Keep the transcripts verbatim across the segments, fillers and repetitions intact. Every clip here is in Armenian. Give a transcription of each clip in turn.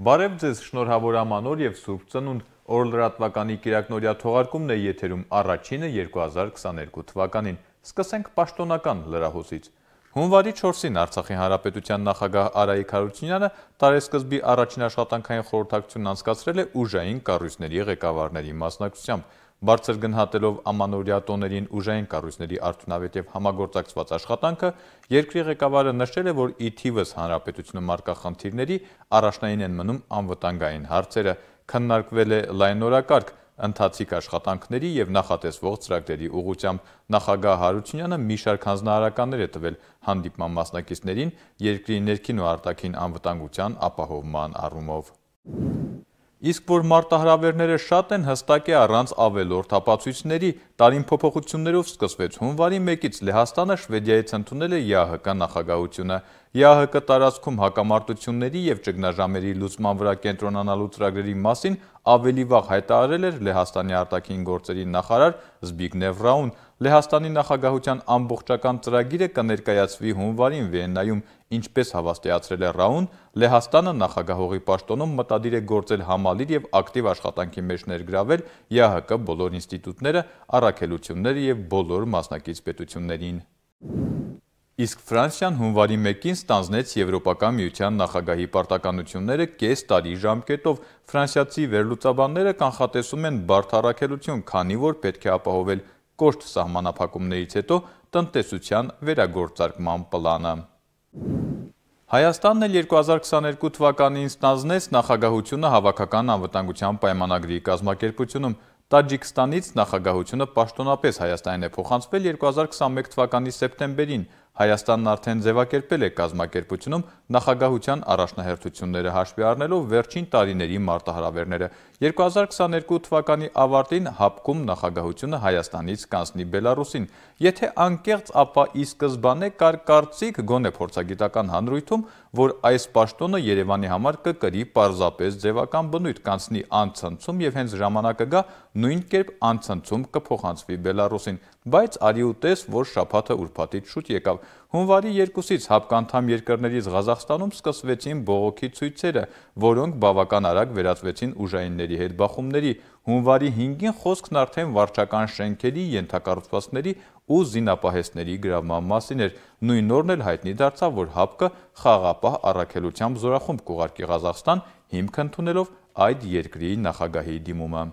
Բարև ձեզ, շնորհավոր ամանոր և Սուրբ Ծնունդ, օրլրատվականի կիրակնօրյա թողարկումն է եթերում առաջինը երկու հազար քսաներկու թվականին։ Սկսենք պաշտոնական լրահոսից։ Հունվարի չորսին Արցախի Հանրապետության նախագահ Արայիկ Հարությունյանը տարեսկզբի առաջին աշխատանքային խորհրդակցությունն անցկացրել է ուժային կառույցների ղեկավարների մասնակցությամբ։ Բարձր գնահատելով ամանորյա տոներին ուժային կառույցների արդյունավետ և համագործակցված աշխատանքը, երկրի ղեկավարը նշել է, որ ի թիվս հանրապետությունում առկա խնդիրների առաջնային են մնում անվտանգային հարցերը, քննարկվել է լայնորակարգ ընթացիկ աշխատանքների և նախատեսվող ծրագրերի ուղղությամբ։ Նախագահ Հարությունյանը մի շարք հանձնարարականներ է տվել հանդիպման մասնակիցներին երկրի ներքին ու արտաքին անվտանգության ապահովման առումով։ Իսկ որ մարտահրավերները շատ են, հստակ է առանց ավելորդ ապացույցների։ Տարին փոփոխություններով սկսվեց։ Հունվարի մեկից Լեհաստանը Շվեդիայից ընդունել է ԵԱՀԿ նախագահությունը։ ԵԱՀԿ տարածքում հակամարտությունների և ճգնաժամերի լուծման վրա կենտրոնանալու ծրագրերի մասին ավելի վաղ հայտարարել էր Լեհաստանի արտաքին գործերի նախարար Զբիգնև Ռաուն։ Լեհաստանի նախագահության ամբողջական ծրագիրը կներկայացվի հունվարին Վիեննայում, ինչպես հավաստիացրել է Ռաուն, Լեհաստանը նախագահողի պաշտոնում մտադիր է գործել համալիր և ակտիվ աշխատանքի մեջ ներգրավել ԵԱՀԿ բոլոր ինստիտուտները, առաքելությունները և բոլոր մասնակից պետություններին։ Իսկ Ֆրանսիան հունվարի մեկին ստանձնեց Եվրոպական միության նախագահի պարտականությունները կես տարի ժամկետով։ Ֆրանսիացի վերլուծաբանները կանխատեսում են բարդ առաքելություն, քանի որ պետք է ապահովել կոշտ սահմանափակումներից հետո տնտեսության վերագործարկման պլանը։ Հայաստանն էլ երկու հազար քսաներկու թվականին ստանձնեց նախագահությունը Հավաքական անվտանգության պայմանագրի կազմակերպությունում։ Տաջիկստանից նախագահությունը պաշտոնապես Հայաստանին է փոխանցվել երկու հազար քսանմեկ թվականի սեպտեմբերին։ Հայաստանն արդեն ձևակերպել է կազմակերպությունում նախագահության առաջնահերթությունները հաշվի առնելով վերջին տարիների մարտահրավերները։ երկու հազար քսաներկու թվականի ավարտին ՀԱՊԿ-ում նախագահությունը Հայաստանից կանցնի Բելառուսին։ Եթե անկեղծ, ապա ի սկզբանե կար կարծիք, գոնե փորձագիտական հանրույթում, որ այս պաշտոնը Երևանի համար կկրի պարզապես ձևական բնույթ, կանցնի անցնցում և հենց ժամանակը գա, նույն կերպ անցնցում կփոխանցվի Բելառուսին։ Բայց արի ու տես, որ շաբաթը ուրբաթից շուտ եկավ։ Հունվարի երկուսից ՀԱՊԿ անդամ երկրներից Ղազախստանում սկսվեցին բողոքի ցույցերը, որոնք բավական արագ վերածվեցին ուժայինների հետ բախումների։ Հունվարի հինգին խոսքն արդեն վարչական շենքերի, ենթակառուցվածքների ու զինապահեստների գրավման մասին էր։ Նույն օրն էլ հայտնի դարձավ, որ ՀԱՊԿ-ը խաղաղապահ առաքելությամբ զորախումբ կուղարկի Ղազախստան, հիմք ընդունելով այդ երկրի նախագահի դիմումը։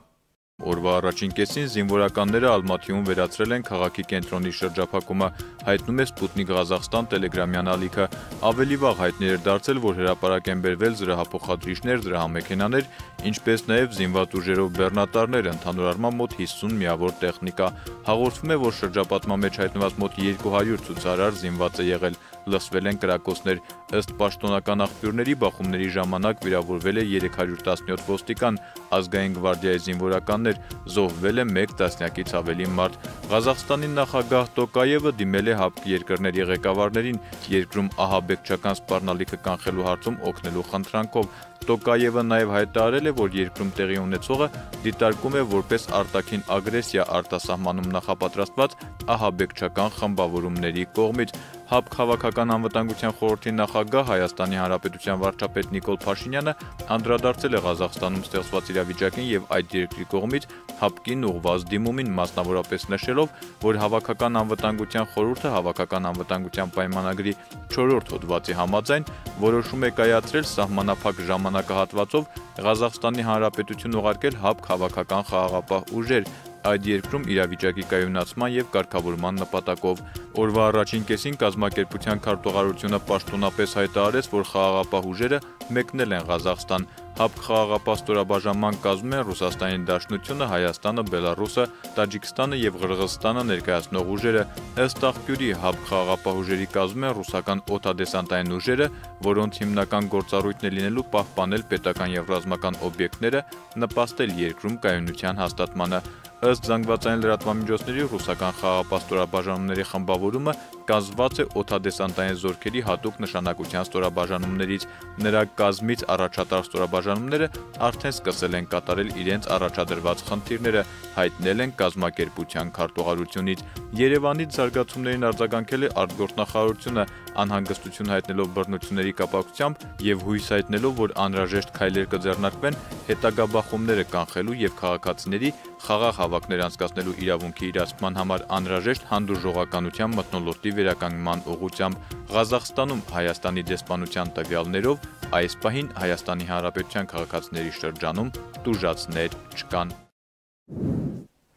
Օրվա առաջին կեսին զինվորականները Ալմաթիում վերացրել են քաղաքի կենտրոնի շրջափակումը, հայտնում է Սպուտնիկ Ղազախստան տելեգրամյան ալիքը։ Ավելի վաղ հայտնի էր դարձել, որ հրապարակ են բերվել զրահափոխադրիչներ, զրահամեքենաներ, ինչպես նաև զինված ուժերով բեռնատարներ, ընդհանուր առմամբ մոտ հիսուն միավոր տեխնիկա։ Հաղորդվում է, որ շրջապատման մեջ հայտնված մոտ երկու հարյուր ցուցարար զինված է եղել, լսվել են կրակոցներ։ Ըստ պաշտոնական աղբյուրների, բախումների ժամանակ վիրավորվել է երեք հարյուր տասնյոթ ոստիկան, ազգային գվարդիայի զինվորականներ, զոհվել է մեկ տասնյակից ավելի մարդ։ Ղազախստանի նախագահ Տոկաևը դիմել է ՀԱՊԿ երկրների ղեկավարներին, երկրում ահաբեկչական սպառնալիքը կանխելու հարցում օգնելու խնդրանքով։ Տոկաևը նաև հայտարարել է, որ երկրում տեղի ունեցողը դիտարկում է որպես արտաքին ագրեսիա արտասահմանում նախապատրաստված ահաբեկչական խմբավորումների կողմից։ ՀԱՊԿ Հավաքական անվտանգության խորհրդի նախագահ Հայաստանի Հանրապետության վարչապետ Նիկոլ Փաշինյանը անդրադարձել է Ղազախստանում ստեղծված իրավիճակին և այդ երկրի կողմից ՀԱՊԿ-ին ուղղված դիմումին, մասնավորապես նշելով, որ Հավաքական անվտանգության խորհուրդը Հավաքական անվտանգության պայմանագրի չորրորդ հոդվածի համաձայն որոշում է կայացրել սահմանափակ ժամանակահատվածով Ղազախստանի Հանրապետություն ուղարկել ՀԱՊԿ հավաքական խաղաղապահ ուժեր այդ երկրում իրավիճակի կայունացման և կարգավորման նպատակով։ Օրվա առաջին կեսին կազմակերպության քարտուղարությունը պաշտոնապես հայտարարեց, որ խաղաղապահ ուժերը մեկնել են Ղազախստան։ ՀԱՊԿ խաղաղապահ ստորաբաժանման կազմում են Ռուսաստանի Դաշնությունը, Հայաստանը, Բելառուսը, Տաջիկստանը և Ղրղզստանը ներկայացնող ուժերը։ Ըստ աղբյուրի, ՀԱՊԿ խաղաղապահ ուժերի կազմում են ռուսական օդադեսանտային ուժերը, որոնց հիմնական գործառույթն է լինելու պահպանել պետական և ռազմական օբյեկտները, նպաստել երկրում կայունության հաստատմանը։ Ըստ զանգվածային լրատվամիջոցների, ռուսական խաղաղապահ ստորաբաժանումների խմբավորումը կազմված է օդադեսանտային զորքերի հատուկ նշանակության ստորաբաժանումներից։ Նրա կազմից առաջատար ստորաբաժանումները արդեն սկսել են կատարել իրենց առաջադրված խնդիրները, հայտնել են կազմակերպության քարտուղարությունից։ Երևանից զարգացումներին արձագանքել է արտգործնախարարությունը, անհանգստություն հայտնելով բռնությունների կապակցությամբ եւ հույս հայտնելով, որ անհրաժեշտ քայլեր կձեռնարկվեն հետագա բախումները կանխելու եւ քաղաքացիների խաղաղ հավաքներ անցկացնելու իրավունքի իրացման համար անհրաժեշտ հանդուրժողականության մթնոլորտի վերականգնման ուղղությամբ։ Ղազախստանում Հայաստանի դեսպանության տվյալներով այս պահին Հայաստանի Հանրապետության քաղաքացիների շրջանում տուժածներ չկան։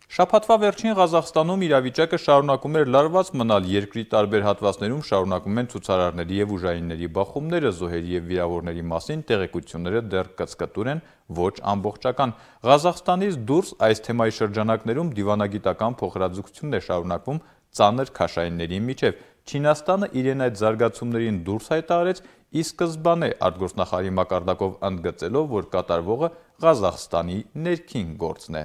Շաբաթվա վերջին Ղազախստանում իրավիճակը շարունակում էր լարված մնալ, երկրի տարբեր հատվածներում շարունակում են ցուցարարների եւ ուժայինների բախումները, զոհերի եւ վիրավորների մասին տեղեկությունները դեռ կծկտուր են, ոչ ամբողջական։ Ղազախստանից դուրս այս թեմայի շրջանակներում դիվանագիտական փոխհրաձգությունն է շարունակվում ծանր քաշայինների միջև։ Չինաստանը իրեն այդ զարգացումներին դուրս հայտարարեց, ի սկզբանե արտգործնախարարի մակարդակով ընդգծելով, որ կատարվողը Ղազախստանի ներքին գործն է։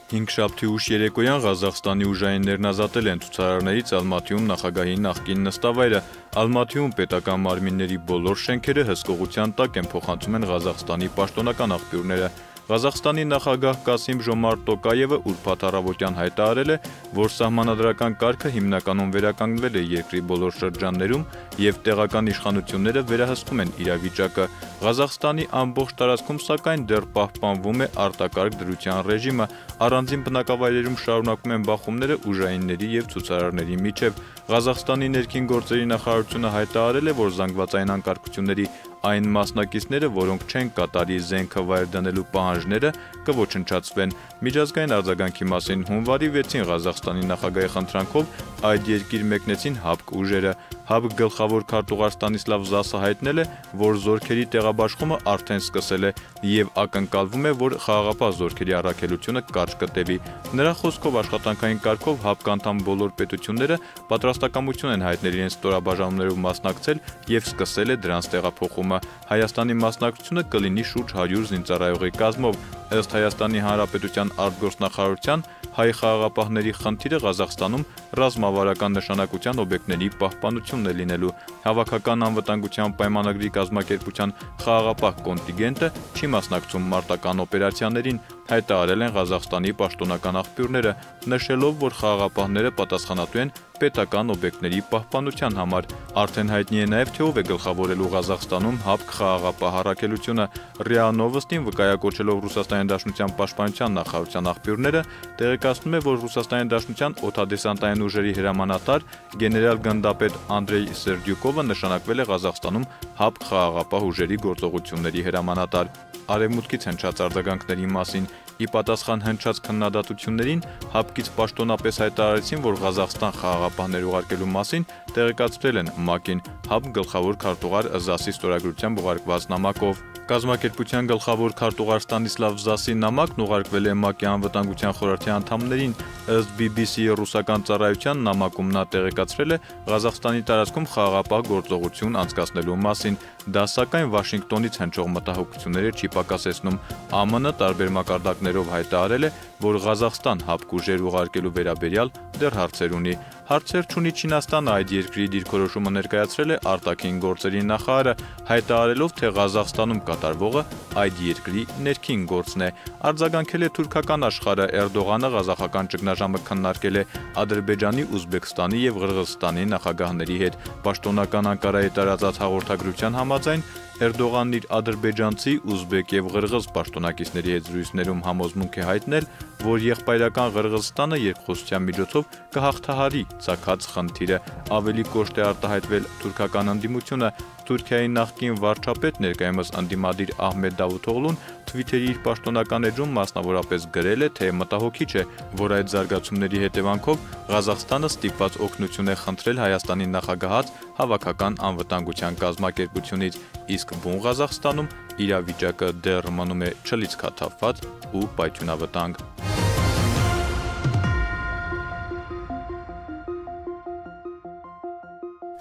Հինգշաբթի ուշ երեկոյան Ղազախստանի ուժայիններն ազատել են ցուցարարներից Ալմատիում նախագահի նախկին նստավայրը։ Ալմատիում պետական մարմինների բոլոր շենքերը հսկողության տակ են, փոխանցում են Ղազախստանի պաշտոնական աղբյուրները։ Ղազախստանի նախագահ Կասիմ-Ժոմարտ Տոկաևը ուրբաթ առավոտյան հայտարարել է, որ սահմանադրական կարգը հիմնականում վերականգնվել է երկրի բոլոր շրջաններում եւ տեղական իշխանությունները վերահսկում են իրավիճակը։ Ղազախստանի ամբողջ տարածքում սակայն դեռ պահպանվում է արտակարգ դրության ռեժիմը, առանձին բնակավայրերում շարունակում են բախումները ուժայինների եւ ցուցարարների միջև։ Ղազախստանի ներքին գործերի նախարարությունը հայտարարել է, որ զանգվածային անկարգությունների այն մասնակիցները, որոնք չեն կատարի զենքը վայր դնելու պահանջները, կոչնչացվեն։ Միջազգային արձագանքի մասին հունվարի վեցին Ղազախստանի նախագահի խնդրանքով այդ երկիր մեկնեցին ՀԱԲԿ ուժերը։ ՀԱԲԿ գլխավոր քարտուղար Ստանիսլավ Զասը հայտնել է, որ զորքերի տեղաբաշխումը արդեն սկսել է եւ ակնկալվում է, որ խաղաղապահ զորքերի առաքելությունը կարճ կտևի։ Նրա խոսքով աշխատանքային կարգով ՀԱԲԿ անդամ բոլոր պետությունները պատրաստակամություն են հայտնել իրենց ստորաբաժանումներով մասնակցել եւ սկսել է դրանց տեղափոխումը։ Հայաստանի մասնակցությունը կլինի շուրջ հարյուր զինծառայողի կազմով։ Ըստ Հայաստանի Հանրապետության արտգործնախարարության, հայ խաղաղապահների խնդիրը Ղազախստանում ռազմավարական նշանակության օբյեկտների պահպանությունն է լինելու։ Հավաքական անվտանգության պայմանագրի կազմակերպության խաղաղապահ կոնտինգենտը չի մասնակցում մարտական օպերացիաներին, հայտարարել են Ղազախստանի պաշտոնական աղբյուրները, նշելով, որ խաղաղապահները պատասխանատու են պետական օբյեկտների պահպանության համար։ Արդեն հայտնի է նաև, թե ով է գլխավորելու Ղազախստանում ՀԱԲԿ խաղաղապահ առաքելությունը։ ՌԻԱ Նովոստին վկայակոչելով Ռուսաստանի Դաշնության պաշտպանության նախարարության աղբյուրները, տեղեկացնում է, որ Ռուսաստանի Դաշնության օդադեսանտային ուժերի հրամանատար գեներալ գնդապետ Անդրեյ Սերդյուկովը նշանակվել է Ղազախստանում ՀԱԲԿ խաղաղապահ ուժերի գործողությունների հրամանատար։ Արևմուտքից հնչած արձագանքների մասին ի պատասխան հնչած քննադատություններին ՀԱԲԿ-ից պաշտոնապես հայտարարեցին, որ Ղազախստան խաղաղապահներ ուղարկելու մասին տեղեկացրել են ՄԱԿ-ին ՀԱԲԿ գլխավոր քարտուղար Զասի ստորագրությամբ ուղարկված նամակով։ Կազմակերպության գլխավոր քարտուղար Ստանիսլավ Զասի նամակն ուղարկվել է ՄԱԿ-ի անվտանգության խորհրդի անդամներին։ Ըստ բի բի սի-ի ռուսական ծառայության նամակում նա տեղեկացրել է Ղազախստանի տարածքում խաղաղապահ գործողություն անցկացնելու մասին։ Դա սակայն Վաշինգտոնից հնչող մտահոգությունները չի պակասեցնում։ ԱՄՆ տարբեր մակարդակներով հայտարարել է, որ Ղազախստան ՀԱԲԿ ուժեր ուղարկելու վերաբերյալ դեռ հարցեր ունի։ Հարցեր չունի Չինաստանը, այդ երկրի դիրքորոշումը ներկայացրել է արտաքին գործերի նախարարը, հայտարարելով, թե Ղազախստանում կատարվողը այդ երկրի ներքին գործն է։ Արձագանքել է թուրքական աշխարհը, Էրդողանը ղազախական ճգնաժամը քննարկել է Ադրբեջանի, Ուզբեկստանի եւ Ղրղըզստանի նախագահների հետ։ Պաշտոնական Անկարայի տարածած հաղորդագրության համաձայն Էրդողանն իր ադրբեջանցի, ուզբեկ եւ ղրղըզ պաշտոնակիցների հետ զրույցներում համոզմունք է հայտնել, որ եղբայրական Ղրղըզստանը երկխոսության միջոցով կհաղթահարի ցակած խնդիրը։ Ավելի կոշտ է արտահայտվել թուրքական ընդդիմությունը։ Թուրքիայի նախկին վարչապետ, ներկայումս ընդդիմադիր Ահմեդ Դավութօղլուն Twitter-ի իր պաշտոնական էջում մասնավորապես գրել է, թե մտահոգիչ է, որ այդ զարգացումների հետևանքով Ղազախստանը ստիպված օգնություն է խնդրել Հայաստանի նախագահած Հավաքական անվտանգության կազմակերպությունից, իսկ բուն Ղազախստանում իրավիճակը դեռ մնում է չլիցքաթափված ու պայթյունավտանգ։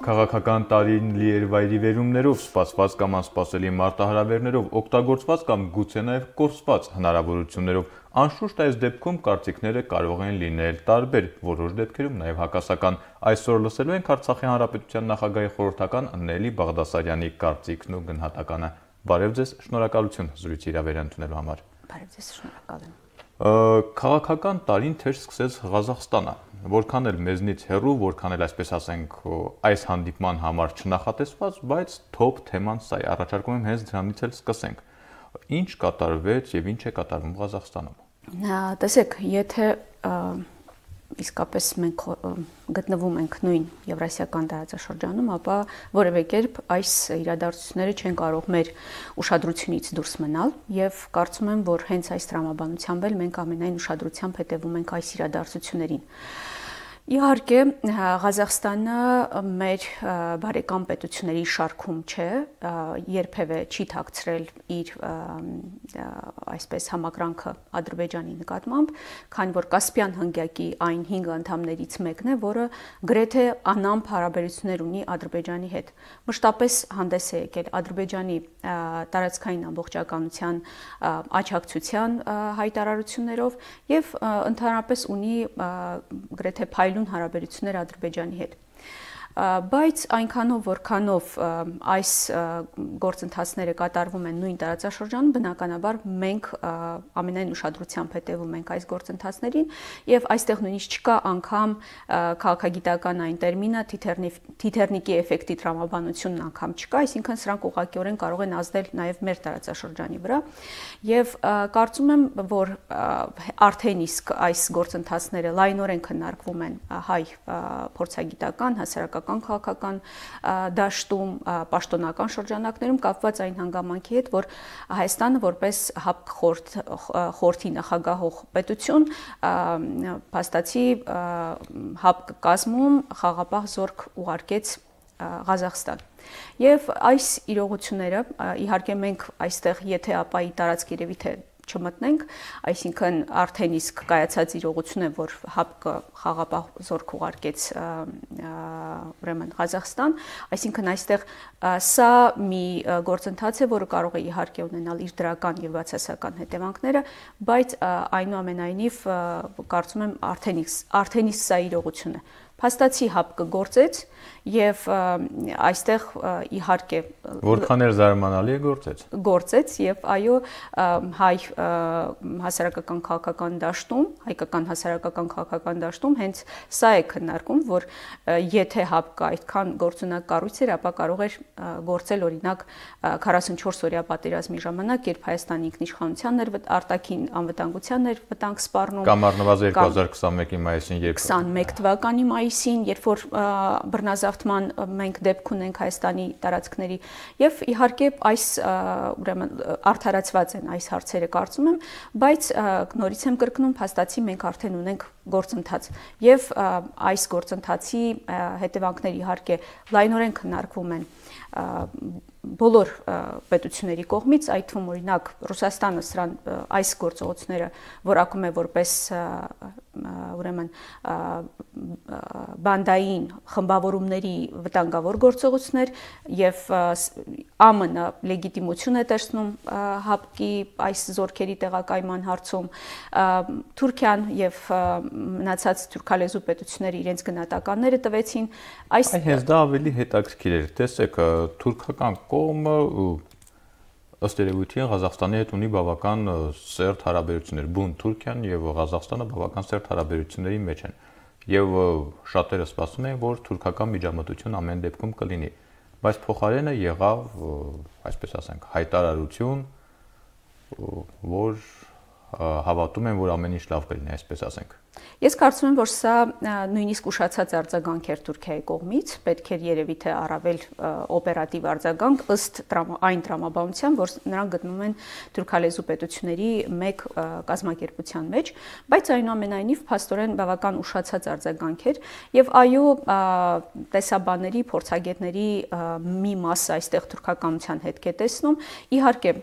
Քաղաքական տարին լի էր վայրիվերումներով, սպասված կամ անսպասելի մարտահրավերներով, օգտագործված կամ գուցե նաև կորսված հնարավորություններով։ Անշուշտ այս դեպքում կարծիքները կարող են լինել տարբեր, որոշ դեպքերում նաև հակասական։ Այսօր լսելու ենք Արցախի Հանրապետության նախագահի խորհրդական Նելի Բաղդասարյանի կարծիքն ու գնահատականը։ Բարև ձեզ, շնորհակալություն զրույցի հրավեր ընդունելու համար։ Բարև ձեզ, շնորհակալ եմ։ Քաղաքական տարին թեժ սկսեց Ղազախստանը, որքան էլ մեզնից հեռու, որքան էլ այսպես ասենք այս հանդիպման համար չնախատեսված, բայց թոփ թեման սա է, առաջարկում եմ հենց դրանից էլ սկսենք։ Ինչ կատարվեց եւ ինչ է կատարվում Ղազախստանում։ Տեսեք, եթե իսկապես մենք գտնվում ենք նույն Եվրասիական տարածաշրջանում, ապա որևէ կերպ այս իրադարձությունները չեն կարող մեր ուշադրությունից դուրս մնալ եւ կարծում եմ, որ հենց այս տրամաբանությամբ էլ մենք ամենայն ուշադրությամբ հետևում ենք այս իրադարձություններին։ Իհարկե, Ղազախստանը մեր բարեկամ պետությունների շարքում չէ, երբևէ չի թաքցրել իր այսպես համակրանքը Ադրբեջանի նկատմամբ, քանի որ Կասպյան հնգյակի այն հինգ անդամներից մեկն է, որը գրեթե անամպ հարաբերություններ ունի Ադրբեջանի հետ։ Մշտապես հանդես է եկել Ադրբեջանի տարածքային ամբողջականության աջակցության հայտարարություններով եւ ընդհանրապես ունի գրեթե փայլուն հարաբերություններ Ադրբեջանի հետ։ Բայց այնքանով, որքանով այս գործընթացները կատարվում են նույն տարածաշրջանում, բնականաբար մենք ամենայն ուշադրությամբ հետևում ենք այս գործընթացներին եւ այստեղ նույնիսկ չկա անգամ քաղաքագիտական այն տերմինը թիթեռնիկի էֆեկտի տրամաբանությունն անգամ չկա, այսինքն սրանք ուղղակիորեն կարող են ազդել նաեւ մեր տարածաշրջանի վրա եւ կարծում եմ, որ արդեն իսկ այս գործընթացները լայնորեն քննարկվում են հայ փորձագիտական, հասարակական քաղաքական դաշտում, պաշտոնական շրջանակներում կապված այն հանգամանքի հետ, որ Հայաստանը որպես ՀԱՊԿ խորհրդի նախագահող պետություն փաստացի ՀԱՊԿ կազմում խաղաղապահ զորք ուղարկեց Ղազախստան։ Եվ այս իրողությունները, իհարկե մենք այստեղ եթե ապայի տարածք երևի թե չմտնենք, այսինքն արդեն իսկ կայացած իրողություն է, որ ՀԱՊԿ խաղաղապահ զորք ուղարկեց ուրեմն Ղազախստան, այսինքն այստեղ սա մի գործընթաց է, որը կարող է իհարկե ունենալ իր դրական եւ բացասական հետևանքները, բայց այնուամենայնիվ կարծում եմ արդեն իսկ արդեն իսկ սա իրողություն է։ Փաստացի ՀԱՊԿ գործեց եւ այստեղ իհարկե որքան էլ զարմանալի է գործեց գործեց եւ այո հայ հասարակական քաղաքական դաշտում հայկական հասարակական քաղաքական դաշտում հենց սա է քննարկում, որ եթե ՀԱՊԿ այդքան գործունակ կառույց էր, ապա կարող էր գործել օրինակ քառասունչորս օրյա պատերազմի ժամանակ, երբ Հայաստանի ինքնիշխանությանն էր արտաքին անվտանգությանն էր վտանգ սպառնում, կամ առնվազն երկու հազար քսանմեկի մայիսին, երբ քսանմեկ թվականի մայիսին, երբ որ բռնազավթման մենք դեպք ունենք Հայաստանի տարածքների եւ իհարկե այս ուրեմն արդարացված են այս հարցերը կարծում եմ, բայց նորից եմ կրկնում, փաստացի մենք արդեն ունենք գործընթաց եւ այս գործընթացի հետևանքները իհարկե լայնորեն քննարկվում են բոլոր պետությունների կողմից, այդ թվում օրինակ Ռուսաստանը սրան այս գործողությունները որակում է որպես ուրեմն բանդային խմբավորումների վտանգավոր գործողություններ եւ ԱՄՆ լեգիտիմություն է տեսնում ՀԱՊԿ-ի այս զորքերի տեղակայման հարցում, Թուրքիան եւ մնացած թուրքալեզու պետությունները իրենց գնահատականները տվեցին, այս հենց դա ավելի հետաքրքիր էր, տեսեք, թուրքական կողմը ըստ երևույթին Ղազախստանի հետ ունի բավական սերտ հարաբերություններ, բուն Թուրքիան եւ Ղազախստանը բավական սերտ հարաբերությունների մեջ են եւ շատերը սպասում են, որ թուրքական միջամտություն ամեն դեպքում կլինի, բայց փոխարենը եղավ, այսպես ասենք, հայտարարություն, որ հավատում են, որ ամեն ինչ լավ կլինի, այսպես ասենք։ Ես կարծում եմ, որ սա նույնիսկ ուշացած արձագանք էր Թուրքիայի կողմից, պետք էր երևի թե առավել օպերատիվ արձագանք ըստ այն տրամաբանության, որ նրանք գտնվում են թուրքալեզու պետությունների մեկ կազմակերպության մեջ, բայց այնուամենայնիվ փաստորեն բավական ուշացած արձագանք էր եւ այո, տեսաբանների, փորձագետների մի մասը այստեղ թուրքականության հետք է տեսնում։ Իհարկե,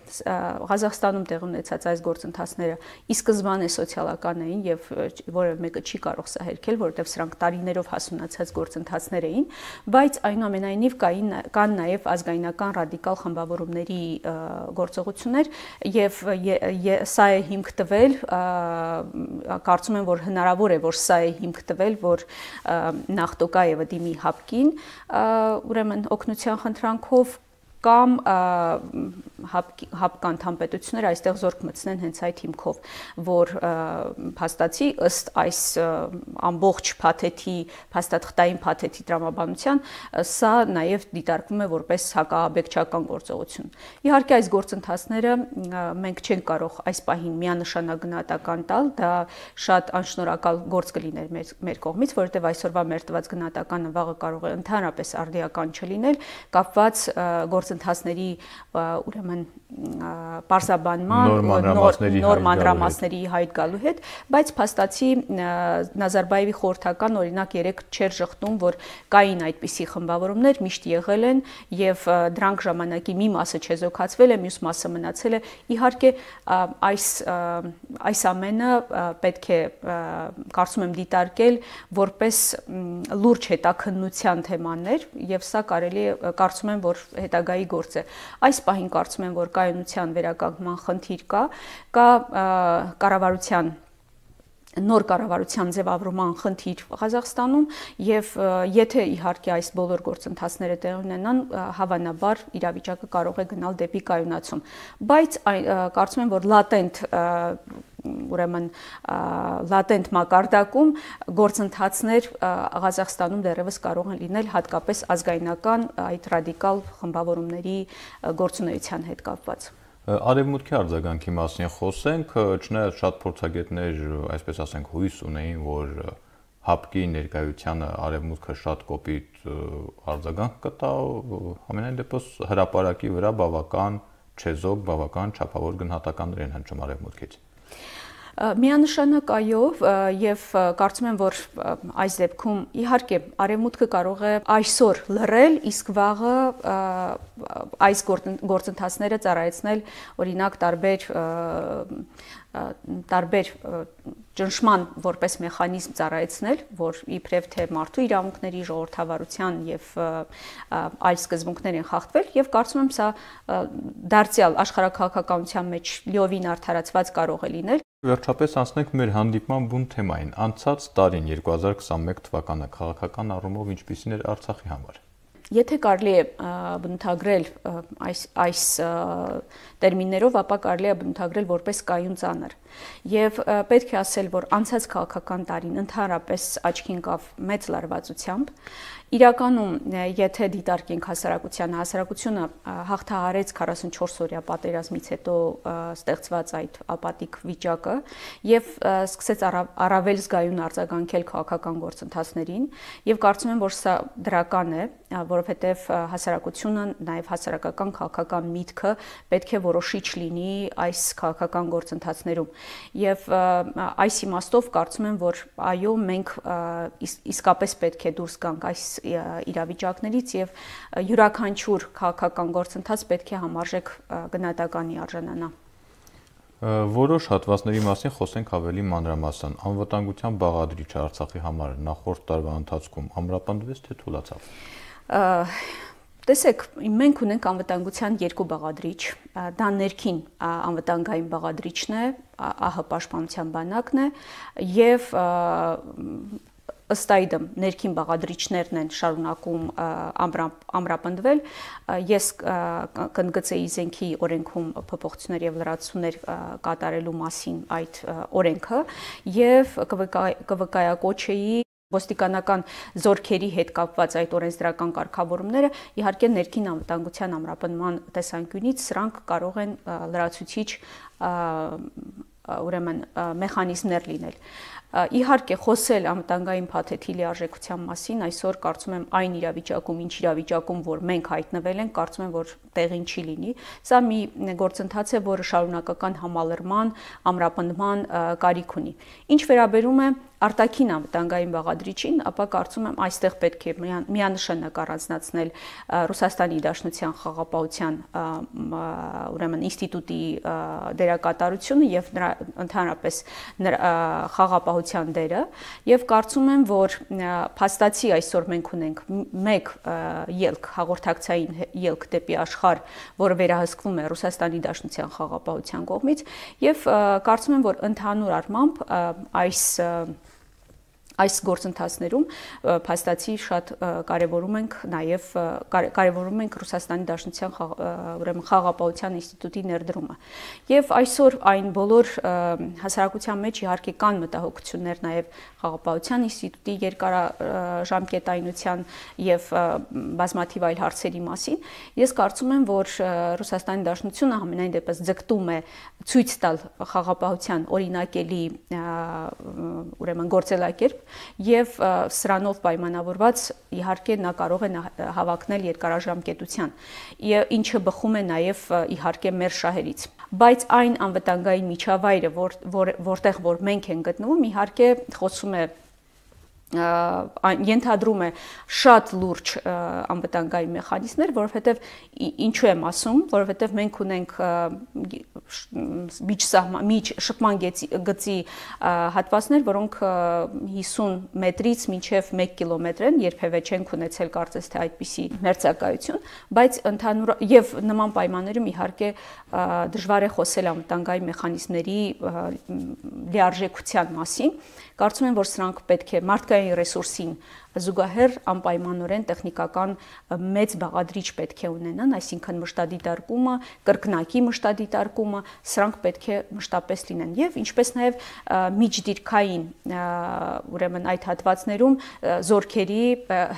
Ղազախստանում տեղ ունեցած այս գործընթացները ի սկզբանե սոցիալական էին եւ որ որևէ մեկը չի կարող սա հերքել, որովհետև սրանք տարիներով հասունացած գործընթացներ էին, բայց այնուամենայնիվ կային կան նաև ազգայնական ռադիկալ խմբավորումների գործողություններ եւ սա է հիմք տվել, կարծում եմ, որ հնարավոր է, որ սա է հիմք տվել, որ Նախտոկաևը դիմի ՀԱՊԿ-ին, ուրեմն օգնության խնդրանքով կամ ՀԱՊԿ անդամ պետությունները այստեղ զորք մտցնեն հենց այդ հիմքով, որ փաստացի ըստ այս ամբողջ փաթեթի, փաստաթղթային փաթեթի տրամաբանության, սա նաև դիտարկվում է որպես հակաաբեկչական գործողություն։ Իհարկե այս գործընթացները մենք չենք կարող այս պահին միանշանակ գնահատական տալ, դա շատ անշնորհակալ գործ կլիներ մեր, մեր կողմից, որովհետև այսօրվա մեր տված գնահատականը վաղը կարող է ընդհանրապես արդիական չլինել, կապված գործընթացների ուրեմն պարզաբանման, նոր մանրամասների հայտ գալու հետ, բայց փաստացի Նազարբայևի խորհրդական օրինակ երեք չէր շղթում, որ կային այդպիսի խմբավորումներ, միշտ եղել են եւ դրանք ժամանակի մի մասը չեզոքացվել է, մյուս մասը մնացել է։ Իհարկե այս այս ամենը պետք է կարծում եմ դիտարկել որպես լուրջ հետաքննության թեմաներ եւ սա կարելի է կարծում եմ, որ հետագայի գործ է։ Այս պահին կարծում եմ, որ կայունության վերականգնման խնդիր կա, կա կառավարության նոր կառավարության ձևավորման խնդիր Ղազախստանում եւ եթե իհարկե այս բոլոր գործընթացները տեղի ունենան, հավանաբար իրավիճակը կարող է գնալ դեպի կայունացում, բայց կարծում եմ, որ լատենտ ուրեմն լատենտ մակարդակում գործընթացներ Ղազախստանում դեռևս կարող են լինել հատկապես ազգայնական այդ ռադիկալ խմբավորումների գործունեության հետ կապված։ Արևմուտքի արձագանքի մասին խոսենք, չնայած շատ փորձագետներ, այսպես ասենք, հույս ունեին, որ ՀԱՊԿ-ի ներկայությանը արևմուտքը շատ կոպիտ արձագանք կտա, ամենայն դեպս հրապարակի վրա բավական չեզոք, բավական չափավոր գնահատականներ են հնչում արևմուտքից։ Միանշանակ այո, եւ կարծում եմ, որ այս դեպքում իհարկե արևմուտքը կարող է այսօր լռել, իսկ վաղը այս գործընթացները ծառայեցնել օրինակ տարբեր տարբեր ճնշման որպես մեխանիզմ ծառայեցնել, որ իբրև թե մարդու իրավունքների, ժողովրդավարության եւ այլ սկզբունքներ են խախտվել եւ կարծում եմ սա դարձյալ աշխարհաքաղաքականության մեջ լիովին արդարացված կարող է լինել։ Վերջապես անցնենք մեր հանդիպման բուն թեմային։ Անցած տարին երկու հազար քսաներեք թվականը քաղաքական առումով ինչպիսին էր Արցախի համար։ Եթե կարելի է բնութագրել այս այս տերմիններով, ապա կարելի է բնութագրել որպես կայուն ծանր։ Եվ պետք է ասել, որ անցած քաղաքական տարին ընդհանրապես աչքի ընկավ մեծ լարվածությամբ։ Իրականում, եթե դիտարկենք հասարակությանը, հասարակությունը հաղթահարեց քառասունչորս օրյա պատերազմից հետո ստեղծված այդ ապատիկ վիճակը եւ սկսեց առավել զգայուն արձագանքել քաղաքական գործընթացներին եւ կարծում եմ, որ սա դրական է, որովհետեւ հասարակությունը, նաեւ հասարակական քաղաքական միտքը պետք է որոշիչ լինի այս քաղաքական գործընթացներում։ Եվ այս իմաստով կարծում եմ, որ այո, մենք իսկապես պետք է դուրս գանք այս իրավիճակներից եւ յուրաքանչյուր քաղաքական գործընթաց պետք է համարժեք գնահատականի արժանանա։ Որոշ հատվածների մասին խոսենք ավելի մանրամասն։ Անվտանգության բաղադրիչը Արցախի համար նախորդ տարվա ընթացքում ամրապնդվեց թե թուլացավ։ Տեսեք, մենք ունենք անվտանգության երկու բաղադրիչ, դա ներքին անվտանգային բաղադրիչն է, ԱՀ պաշտպանության բանակն է եւ ըստ այդմ ներքին բաղադրիչներն են շարունակում ամրապնդվել։ Ես կընդգծեի զենքի օրենքում փոփոխություններ եւ լրացումներ կատարելու մասին այդ օրենքը եւ կվկայակոչեի ոստիկանական զորքերի հետ կապված այդ օրենսդրական կարգավորումները, իհարկե ներքին անվտանգության ամրապնդման տեսանկյունից սրանք կարող են լրացուցիչ ուրեմն մեխանիզմներ լինել։ Իհարկե խոսել անվտանգային փաթեթի լիարժեքության մասին այսօր կարծում եմ այն իրավիճակում, ինչ իրավիճակում, որ մենք հայտնվել ենք, կարծում եմ, որ տեղին չի լինի։ Սա մի գործընթաց է, որը շարունակական համալրման, ամրապնդման կարիք ունի։ Ինչ վերաբերում է արտաքին անվտանգային բաղադրիչին, ապա կարծում եմ այստեղ պետք է միանշանակ առանձնացնել Ռուսաստանի Դաշնության խաղաղապահության ուրեմն ինստիտուտի դերակատարությունը եւ նրա ընդհանրապես խաղաղապահության խաղաղապահության դերը եւ կարծում եմ, որ փաստացի այսօր մենք ունենք մեկ ելք, հաղորդակցային ելք դեպի աշխարհ, որը վերահսկվում է Ռուսաստանի Դաշնության խաղաղապահության կողմից եւ կարծում եմ, որ ընդհանուր առմամբ այս Այս գործընթացներում փաստացի շատ կարևորում ենք նաև կարևորում ենք Ռուսաստանի Դաշնության ուրեմն խաղաղապահության ինստիտուտի ներդրումը։ Եվ այսօր այն բոլոր հասարակության մեջ իհարկե կան մտահոգություններ նաև խաղաղապահության ինստիտուտի երկարաժամկետայնության եւ բազմաթիվ այլ հարցերի մասին։ Ես կարծում եմ, որ Ռուսաստանի Դաշնությունը համենայն դեպս ձգտում է ցույց տալ խաղաղապահության օրինակելի ուրեմն գործելակերպ եւ սրանով պայմանավորված իհարկե նա կարող է հավակնել երկարաժամկետության, ինչը բխում է նաեւ իհարկե մեր շահերից։ Բայց այն անվտանգային միջավայրը, որտեղ որ մենք ենք գտնվում, իհարկե խոսում է ենթադրում է շատ լուրջ անվտանգային մեխանիզմներ, որովհետև ինչու եմ ասում, որովհետև մենք ունենք միջ շփման գծի հատվածներ, որոնք հիսուն մետրից մինչև մեկ կիլոմետր են, երբևէ չենք ունեցել կարծես թե այդպիսի մերձակայություն, բայց ընդհանուր եւ նման պայմաններում իհարկե դժվար է խոսել անվտանգային մեխանիզմների լիարժեքության մասին։ Կարծում եմ, որ սրանք պետք է մարդկային ռեսուրսին զուգահեռ անպայմանորեն տեխնիկական մեծ բաղադրիչ պետք է ունենան, այսինքն մշտադիտարկումը, կրկնակի մշտադիտարկումը, սրանք պետք է մշտապես լինեն եւ ինչպես նաեւ միջդիրքային ուրեմն այդ հատվածներում զորքերի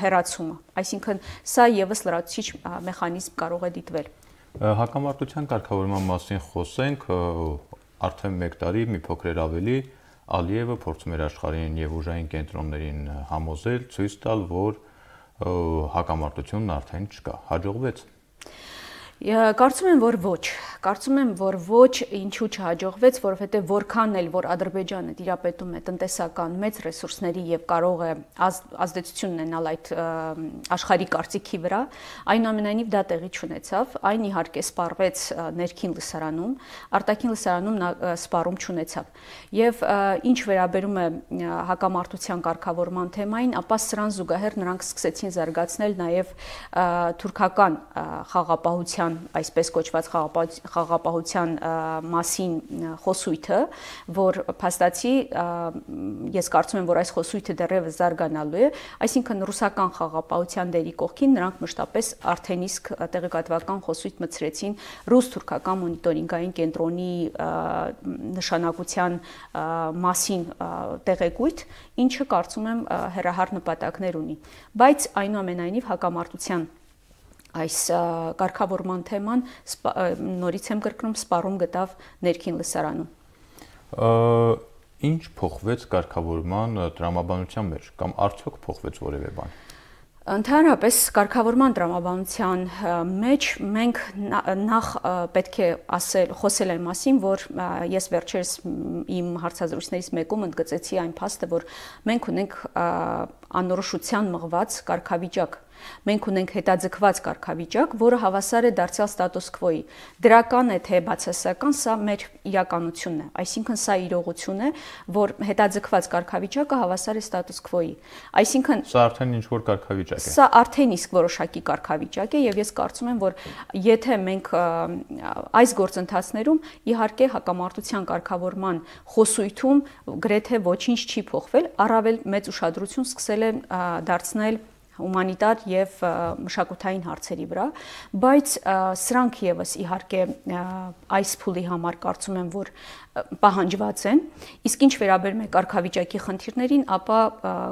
հեռացումը, այսինքն սա եւս լրացուցիչ մեխանիզմ կարող է դիտվել։ Հակամարտության կարգավորման մասին խոսենք, արդեն մեկ տարի մի փոքր ավելի Ալիևը փորձում էր աշխարհին եւ ուժային կենտրոններին համոզել, ցույց տալ, որ հակամարտությունն արդեն չկա։ Հաջողվեց։ Կարծում եմ, որ ոչ, կարծում եմ, որ ոչ, ինչու չհաջողվեց, որովհետև որքան էլ որ Ադրբեջանը տիրապետում է տնտեսական մեծ ռեսուրսների եւ կարող է ազդեցություն ունենալ այդ աշխարհի կարծիքի վրա, այնուամենայնիվ դա տեղի չունեցավ, այն իհարկե սպառվեց ներքին լսարանում, արտաքին լսարանում նա սպառում չունեցավ։ Եվ ինչ վերաբերում է հակամարտության կարգավորման թեմային, ապա սրան զուգահեռ նրանք սկսեցին զարգացնել նաեւ թուրքական խաղաղապահության այսպես կոչված խաղաղապահության մասին խոսույթը, որ փաստացի ես կարծում եմ, որ այս խոսույթը դեռևս զարգանալու է, այսինքն ռուսական խաղաղապահության դերի կողքին նրանք մշտապես արդեն իսկ տեղեկատվական խոսույթ մտցրեցին ռուս-թուրքական մոնիտորինգային կենտրոնի նշանակության մասին տեղեկույթ, ինչը կարծում եմ հեռահար նպատակներ ունի, բայց այնուամենայնիվ հակամարտության այս կարգավորման թեման նորից եմ կրկնում սպառում գտավ ներքին լսարանում։ Ինչ փոխվեց կարգավորման տրամաբանության մեջ կամ արդյոք փոխվեց որևէ բան։ Ընդհանրապես կարգավորման տրամաբանության մեջ մենք նախ պետք է ասել, խոսել այն մասին, որ ես վերջերս իմ հարցազրույցներից մեկում ընդգծեցի այն փաստը, որ մենք ունենք անորոշության մղված կարգավիճակ։ Մենք ունենք հետաձգված կարգավիճակ, որը հավասար է դարձյալ ստատուս քվոյի։ Դրական է թե բացասական, սա մեր իրականությունն է, այսինքն սա իրողություն է, որ հետաձգված կարգավիճակը հավասար է ստատուս քվոյի։ Այսինքն սա արդեն ինչ-որ կարգավիճակ է։ Սա արդեն իսկ որոշակի կարգավիճակ է եւ ես կարծում եմ, որ եթե մենք այս գործընթացներում իհարկե հակամարտության կարգավորման խոսույթում գրեթե ոչինչ չի փոխվել, առավել մեծ ուշադրություն սկսել են դարձնել հումանիտար եւ մշակութային հարցերի վրա, բայց սրանք եւս իհարկե այս փուլի համար կարծում եմ, որ պահանջված են, իսկ ինչ վերաբերում է կարգավիճակի խնդիրներին, ապա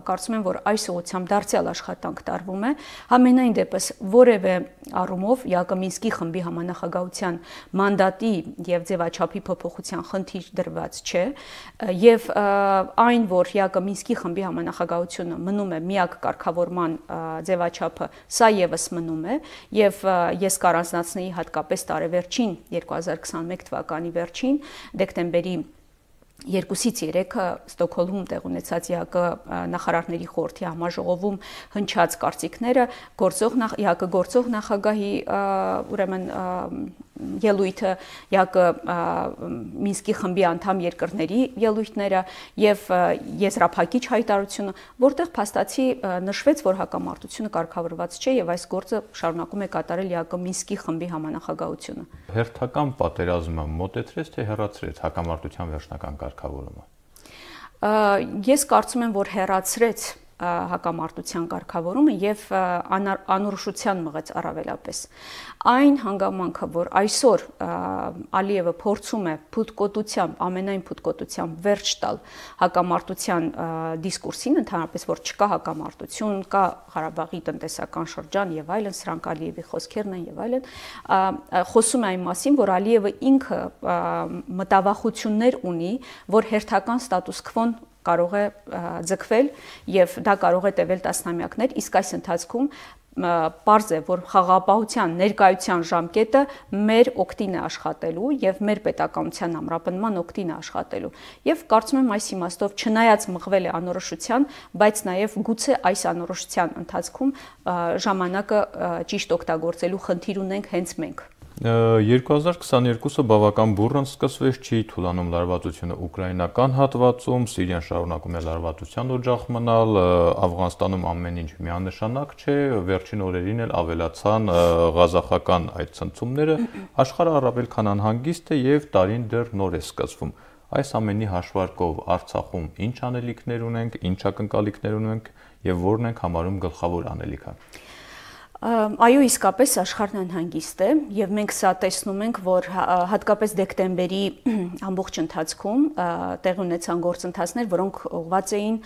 կարծում եմ, որ այս ուղղությամբ դարձյալ աշխատանք տարվում է, համենայն դեպս որևէ առումով Յակոմինսկի խմբի համանախագահության մանդատի եւ ձևաչափի փոփոխության խնդիր դրված չէ, եւ այն, որ Յակոմինսկի խմբի համանախագահությունը մնում է միակ կարգավորման ձևաչափը, սա եւս մնում է եւ ես կառանձնացնեի հատկապես տարեվերջին երկու հազար քսաներկու թվականի վերջին դեկտեմբերի երկուսից երեքը Ստոկհոլմում տեղ ունեցած ԵԱԿ նախարարների խորհրդի համաժողովում հնչած կարծիքները գործող ԵԱԿ գործող նախագահի ուրեմն ելույթը, ԵԱԿ Մինսկի խմբի անդամ երկրների ելույթները եւ եզրափակիչ հայտարարությունը, որտեղ փաստացի նշվեց, որ հակամարտությունը կարգավորված չէ եւ այս գործը շարունակում է կատարել ԵԱԿ Մինսկի խմբի համանախագահությունը։ Հերթական պատերազմը մոտեցրեց թե հեռացրեց հակամարտության վերջնական կարգավորումը։ Ես կարծում եմ, որ հեռացրեց հակամարտության կարգավորումը եւ անորոշության մղեց առավելապես այն հանգամանքը, որ այսօր Ալիևը փորձում է փութկոտությամբ, ամենայն փութկոտությամբ վերջ տալ հակամարտության դիսկուրսին, ընդհանրապես որ չկա հակամարտություն, կա Ղարաբաղի տնտեսական շրջան եւ այլն, սրանք Ալիևի խոսքերն են եւ այլն, խոսում է այն մասին, որ Ալիևը ինքը մտավախություններ ունի, որ հերթական ստատուս քվոն կարող է ձգվել եւ դա կարող է տևել տասնամյակներ, իսկ այս ընթացքում պարզ է, որ խաղաղապահության ներկայության ժամկետը մեր օգտին է աշխատելու եւ մեր պետականության ամրապնդման օգտին է աշխատելու։ Եվ կարծում եմ այս իմաստով չնայած մղվել է անորոշության, բայց նաեւ գուցե այս անորոշության ընթացքում ժամանակը ճիշտ օգտագործելու խնդիր ունենք հենց մենք։ երկու հազար քսաներկուսը բավական բուռն սկսվեց, չի թուլանում լարվածությունը ուկրաինական հատվածում, Սիրիան շարունակում է լարվածության օջախ մնալ, Աֆղանստանում ամեն ինչ միանշանակ չէ, վերջին օրերին էլ ավելացան ղազախական այդ ցնցումները, աշխարհը առավել քան անհանգիստ է եւ տարին դեռ նոր է սկսվում։ Այս ամենի հաշվարկով Արցախում ինչ անելիքներ ունենք, ինչ ակնկալիքներ ունենք եւ որն ենք համարում գլխավոր անելիքը։ Այո, իսկապես աշխարհն անհանգիստ է եւ մենք սա տեսնում ենք, որ հատկապես դեկտեմբերի ամբողջ ընթացքում տեղի ունեցան գործընթացներ, որոնք ուղղված էին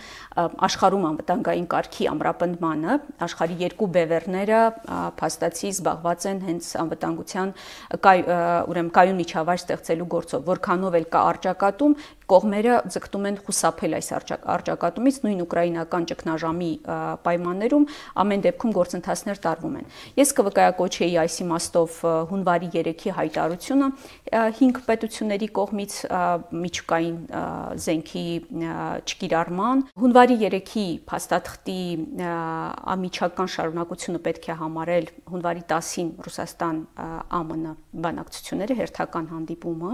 աշխարհում անվտանգային կարգի ամրապնդմանը, աշխարհի երկու բևեռները փաստացի զբաղված են հենց անվտանգության ուրեմն կայուն միջավայր ստեղծելու գործով, որքանով էլ կա առճակատում, կողմերը ձգտում են խուսափել այս առճակատումից, նույն ուկրաինական ճգնաժամի պայմաններում ամեն դեպքում գործընթացներ տարվում են։ Ես կվկայակոչեի այս իմաստով հունվարի երեքի հայտարարությունը հինգ պետությունների կողմից միջուկային զենքի չկիրառման, հունվարի երեքի փաստաթղթի ամիջական շարունակությունը պետք է համարել հունվարի տասին Ռուսաստան ԱՄՆ բանակցությունները, հերթական հանդիպումը,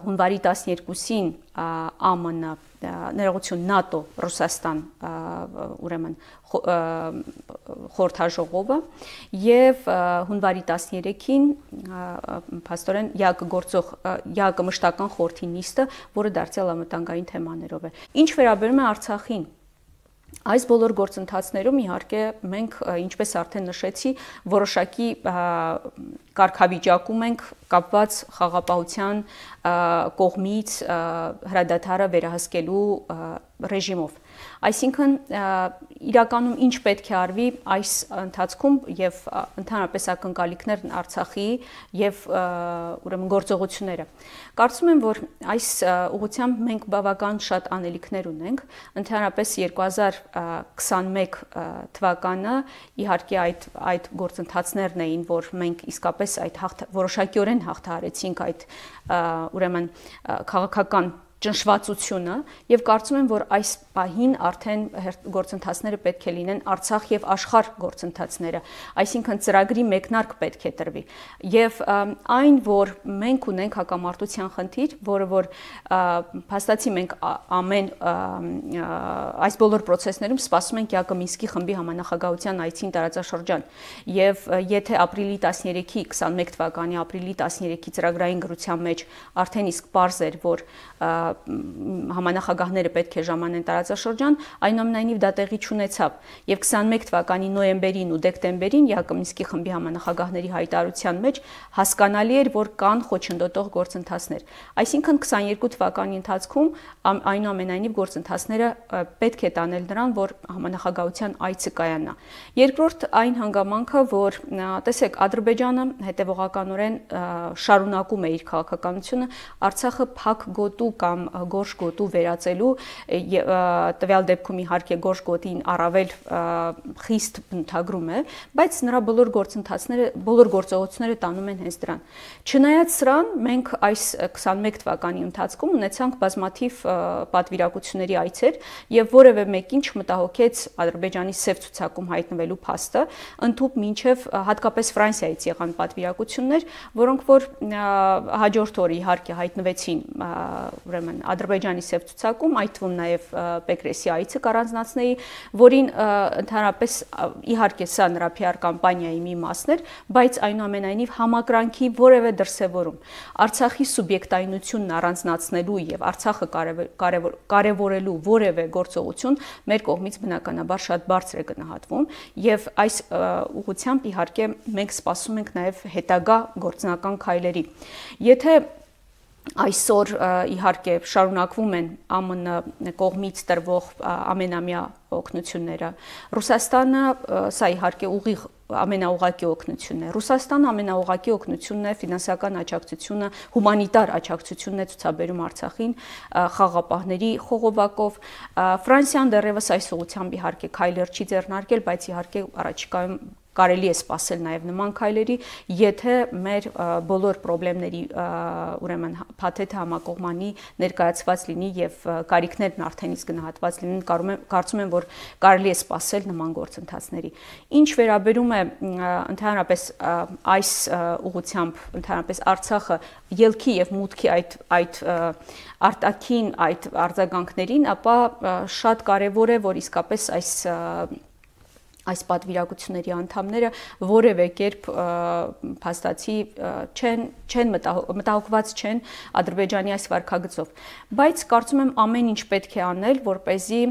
հունվարի տասներկուսին ԱՄՆ ներողություն ՆԱՏՕ Ռուսաստան ուրեմն խորհրդաժողովը եւ հունվարի տասներեքին փաստորեն ԵԱԿ գործող ԵԱԿ մշտական խորհրդի նիստը, որը դարձյալ անվտանգային թեմաներով է։ Ինչ վերաբերում է Արցախին, այս բոլոր գործընթացներում իհարկե մենք, ինչպես արդեն նշեցի, որոշակի կարգավիճակում ենք կապված խաղաղապահության կողմից հրադադարը վերահսկելու ռեժիմով։ Այսինքն իրականում ինչ պետք է արվի այս ընթացքում եւ ընդհանրապես ակնկալիքներն Արցախի եւ ուրեմն գործողությունները։ Կարծում եմ, որ այս ուղղությամբ մենք բավական շատ անելիքներ ունենք, ընդհանրապես երկու հազար քսաներեք թվականը իհարկե այդ այդ գործընթացներն էին, որ մենք իսկապես այդ որոշակիորեն հաղթահարեցինք այդ ուրեմն քաղաքական ճնշվածությունը եւ կարծում եմ, որ այս պահին արդեն գործընթացները պետք է լինեն Արցախ եւ աշխարհ գործընթացները, այսինքն ծրագրի մեկնարկ պետք է տրվի եւ այն, որ մենք ունենք հակամարտության խնդիր, որը որ փաստացի մենք ամեն այս բոլոր process-ներում սպասում ենք ԵԱԿ Մինսկի խմբի համանախագահության այցին տարածաշրջան եւ եթե ապրիլի տասներեքի քսաներեք թվականի ապրիլի տասներեքի ծրագրային գրության մեջ արդեն իսկ պարզ էր, որ համանախագահները պետք է ժամանեն տարածաշրջան, այնուամենայնիվ դա տեղի չունեցավ եւ քսաներեք թվականի նոյեմբերին ու դեկտեմբերին ԵԱԿ Մինսկի խմբի համանախագահների հայտարարության մեջ հասկանալի էր, որ կան խոչընդոտող գործընթացներ։ Այսինքն քսաներկու թվականի ընթացքում այնուամենայնիվ գործընթացները պետք է տանել նրան, որ համանախագահության այցը կայանա։ Երկրորդ այն հանգամանքը, որ տեսեք, Ադրբեջանը հետևողականորեն շարունակում է իր քաղաքականությունը, Արցախը փակ գոտու կամ գորշ գոտու վերածելու, տվյալ դեպքում իհարկե գորշ գոտին առավել խիստ բնութագրում է, բայց նրա բոլոր գործընթացները, բոլոր գործողությունները տանում են հենց դրան։ Չնայած սրան, մենք այս քսանմեկ թվականի ընթացքում ունեցանք բազմաթիվ պատվիրակությունների այցեր եւ որևէ մեկին չմտահոգեց Ադրբեջանի սև ցուցակում հայտնվելու փաստը, ընդհուպ մինչեւ հատկապես Ֆրանսիայից եղան պատվիրակություններ, որոնք որ հաջորդ օրը իհարկե հայտնվեցին ուրեմն Ադրբեջանի սև ցուցակում, այդ թվում նաեւ Պեկրեսի այցը կառանձնացնեի, որին ընդհանրապես իհարկե սա նրա P R կամպանիայի մի մասն էր, բայց այնուամենայնիվ համակրանքի որևէ դրսևորում, Արցախի սուբյեկտայնությունն առանձնացնելու եւ Արցախը կարևորելու որևէ գործողություն մեր կողմից բնականաբար շատ բարձր է գնահատվում եւ այս ուղղությամբ իհարկե մենք սպասում ենք նաեւ հետագա գործնական քայլերի։ Եթե այսօր իհարկե շարունակվում են ԱՄՆ կողմից տրվող ամենամյա օգնությունները, Ռուսաստանը սա իհարկե ուղիղ ամենաուղղակի օգնությունն է։ Ռուսաստանը ամենաուղղակի օգնությունն է, ֆինանսական աջակցությունը, հումանիտար աջակցությունն է ցուցաբերում Արցախին խաղապահների խողովակով։ Ֆրանսիան դեռևս այս ուղղությամբ իհարկե քայլեր չի ձեռնարկել, բայց իհարկե առաջիկայում կարելի է սպասել նաև նման քայլերի, եթե մեր բոլոր խնդիրների ուրեմն փաթեթը համակողմանի ներկայացված լինի եւ կարիքներն արդեն իսկ գնահատված լինեն, կարծում եմ, որ կարելի է սպասել նման գործընթացների։ Ինչ վերաբերում է ընդհանրապես այս ուղղությամբ, ընդհանրապես Արցախը ելքի եւ մուտքի այդ այդ արտաքին այդ արձագանքներին, ապա շատ կարեւոր է, որ իսկապես այս այս պատվիրակությունների անդամները որևէ կերպ փաստացի չեն չեն մտահոգված չեն Ադրբեջանի այս վարքագծով, բայց կարծում եմ ամեն ինչ պետք է անել, որպեսզի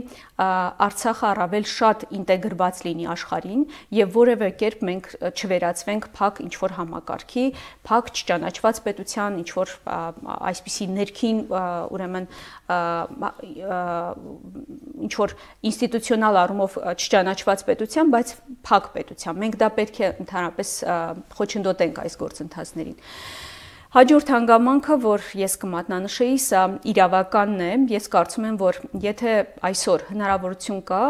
Արցախը առավել շատ ինտեգրված լինի աշխարհին եւ որևէ կերպ մենք չվերածվենք փակ ինչ որ համակարգի, փակ չճանաչված պետության, ինչ որ այսպիսի ներքին ուրեմն ինչ որ ինստիտուցիոնալ առումով չճանաչված պետության, բայց փակ պետության։ Մենք դա պետք է ընդհանրապես խոչընդոտենք այս գործընթացներին։ Հաջորդ հանգամանքը, որ ես կմատնանշեի, սա իրավականն է։ Ես կարծում եմ, որ եթե այսօր հնարավորություն կա,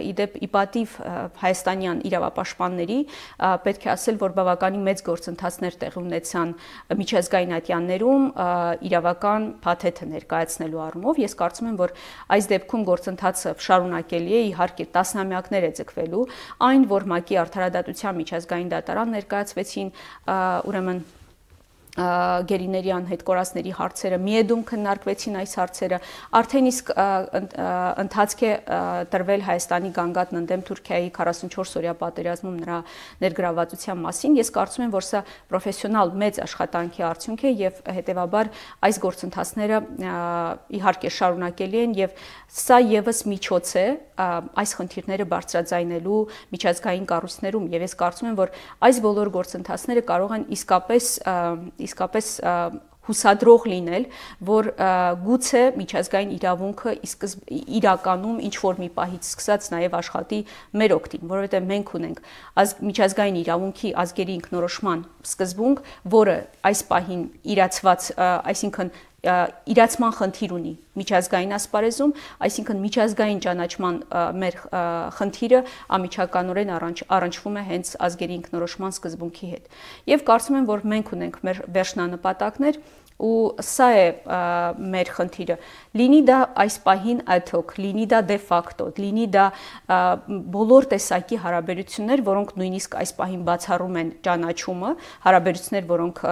իդեպ իպատիվ հայաստանյան իրավապաշտպանների, պետք է ասել, որ բավականին մեծ գործընթացներ տեղի ունեցան միջազգային ատյաններում իրավական փաթեթը ներկայացնելու առումով, ես կարծում եմ, որ այս դեպքում գործընթացը շարունակելի է, իհարկե տասնամյակներ է ձգվելու, այն, որ ՄԱԿ-ի արդարադատության միջազգային դատարան ներկայացվեցին, ուրեմն գերիների անհետքորածների հարցերը, միեդում քննարկվեցին այս հարցերը, արդեն իսկ ընթացք է տրվել Հայաստանի գանգատն ընդդեմ Թուրքիայի քառասունչորս օրյա պատերազմում նրա ներգրավվածության մասին։ Ես կարծում եմ, որ սա պրոֆեսիոնալ մեծ աշխատանքի արդյունք է եւ հետեւաբար այս գործընթացները իհարկե շարունակելի են եւ սա եւս միջոց է այս խնդիրները բարձրաձայնելու միջազգային կառույցներում եւ ես կարծում եմ, որ այս բոլոր գործընթացները կարող են իսկապես իսկապես հուսադրող լինել, որ գուցե միջազգային իրավունքը իրականում ինչ որ մի պահից սկսած նաև աշխատի մեր օգտին, որովհետև մենք ունենք միջազգային իրավունքի ազգերի ինքնորոշման սկզբունք, որը այս պահին իրացված, այսինքն իրացման խնդիր ունի միջազգային ասպարեզում, այսինքն միջազգային ճանաչման մեր խնդիրը անմիջականորեն առնչվում է հենց ազգերի ինքնորոշման սկզբունքի հետ։ Եվ կարծում եմ, որ մենք ունենք մեր վերջնանպատակներ ու սա է մեր խնդիրը, լինի դա այս պահին ad hoc, լինի դա de facto, լինի դա բոլոր տեսակի հարաբերություններ, որոնք նույնիսկ այս պահին բացառում են ճանաչումը, հարաբերություններ, որոնք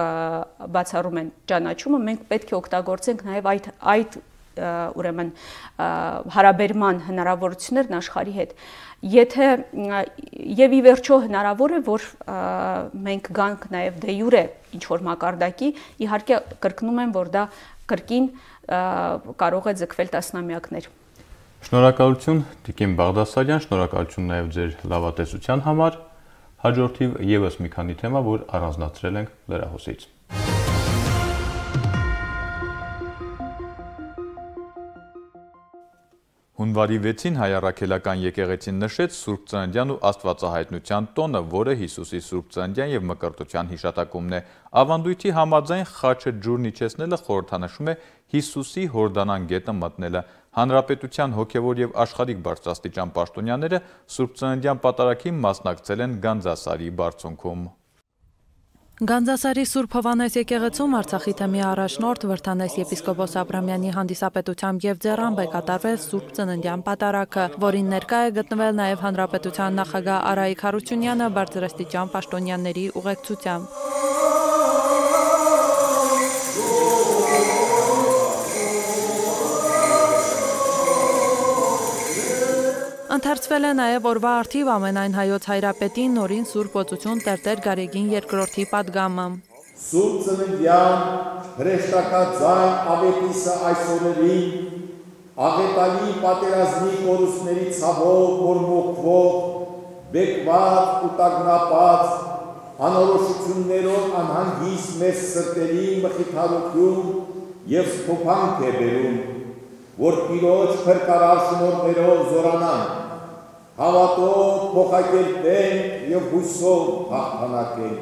բացառում են ճանաչումը, մենք պետք է օգտագործենք նաև այդ այդ ուրեմն հարաբերման հնարավորություններն աշխարհի հետ։ Եթե եւ ի վերջո հնարավոր է, որ մենք գանք նաև դե յուրե ինչ որ մակարդակի, իհարկե կրկնում եմ, որ դա կրկին կարող է ձգվել տասնամյակներ։ Շնորհակալություն Տիկին Բաղդասարյան, շնորհակալություն նաև ձեր լավատեսության համար։ Հաջորդիվ եւս մի քանի թեմա, որ առանձնացրել ենք լրահոսից։ Հունվարի վեցին հայ առաքելական եկեղեցին նշեց Սուրբ Ծննդյան ու Աստվածահայտնության տոնը, որը Հիսուսի Սուրբ Ծննդյան եւ Մկրտության հիշատակումն է։ Ավանդույթի համաձայն խաչը ջուրն իջեցնելը խորհրդանշում է Հիսուսի Հորդանան գետը մտնելը։ Հանրապետության հոգևոր եւ աշխարհիկ բարձրաստիճան պաշտոնյաները Սուրբ Ծննդյան պատարագին մասնակցել են Գանձասարի բարձունքում։ Գանձասարի Սուրբ Հովհաննես եկեղեցում Արցախի թեմի առաջնորդ Վրդանես եպիսկոպոս Աբրամյանի հանդիսապետությամբ եւ ձեռամբ է կատարվել Սուրբ Ծննդյան պատարագը, որին ներկա է գտնվել նաեւ Հանրապետության նախագահ Արայիկ Հարությունյանը բարձրաստիճան պաշտոնյաների ուղեկցությամբ։ Ընթերցվել է նաև օրվա արդիվ ամենայն հայոց հայրապետին նորին Սուրբ Օծություն Տերտեր Գարեգին երկրորդի պատգամը։ Սուրբ Ծննդյան հրեշտակաձայն ավետիսը այս օրերին աղետալի պատերազմի կորուստների ցավով մորմոքվող, բեկված ու տագնապած, անորոշություններով անհանգիստ մեր սրտերի մխիթարություն և սփոփանք է բերում, որ Տիրոջ փրկարար շնորհներով զորանանք, հավատով փոխակերպենք և հույսով հաղթանակենք։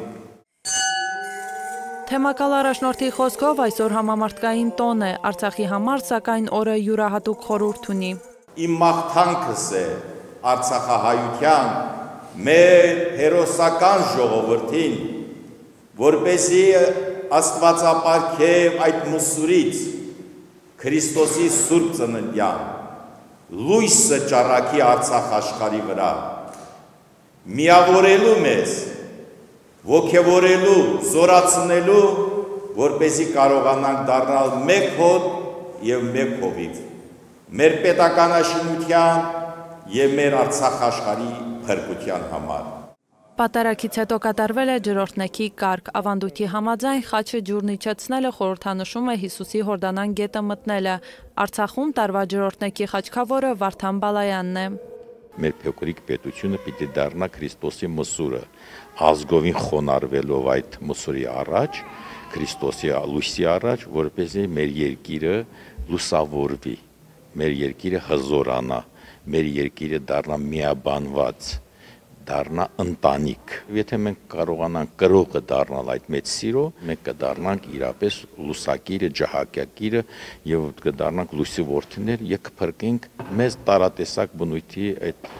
Թեմակալ առաջնորդի խոսքով այսօր համամարտկային տոն է, Արցախի համար սակայն օրը յուրահատուկ խորհուրդ ունի։ Իմ մաղթանքս է արցախահայության մեր հերոսական ժողովրդին, որպեսզի Աստվածապարգև այդ մուսուրից Քրիստոսի Սուրբ Ծննդյան լույսը ճառագի Արցախ աշխարհի վրա, միավորելու մեզ, ոգևորելու, զորացնելու, որպեսզի կարողանանք դառնալ մեկ հոտ և մեկ հովիվ, մեր պետականաշինության և մեր Արցախ աշխարհի փրկության համար։ Պատարագից հետո կատարվել է ջրօրհնեքի կարգ, ավանդույթի համաձայն խաչը ջուրն իջեցնելը խորհրդանշում է Հիսուսի Հորդանան գետը մտնելը։ Արցախում տարվա ջրօրհնեքի խաչքավորը Վարդան Բալայանն է։ Մեր փոքրիկ պետությունը պիտի դառնա Քրիստոսի մսուրը, ազգովին խոնարհվելով այդ մսուրի առաջ, Քրիստոսի լույսի առաջ, որպեսզի մեր երկիրը լուսավորվի, մեր երկիրը հզորանա, մեր երկիրը դառնա միաբանված, դառնա ընտանիք։ Եթե մենք կարողանանք կրողը դառնալ այդ մեծ սիրո, մենք կդառնանք իրապես լուսակիրը, ջահակակիրը եւ կդառնանք լույսի որդիներ եւ կփրկենք մեզ տարատեսակ բնույթի այդ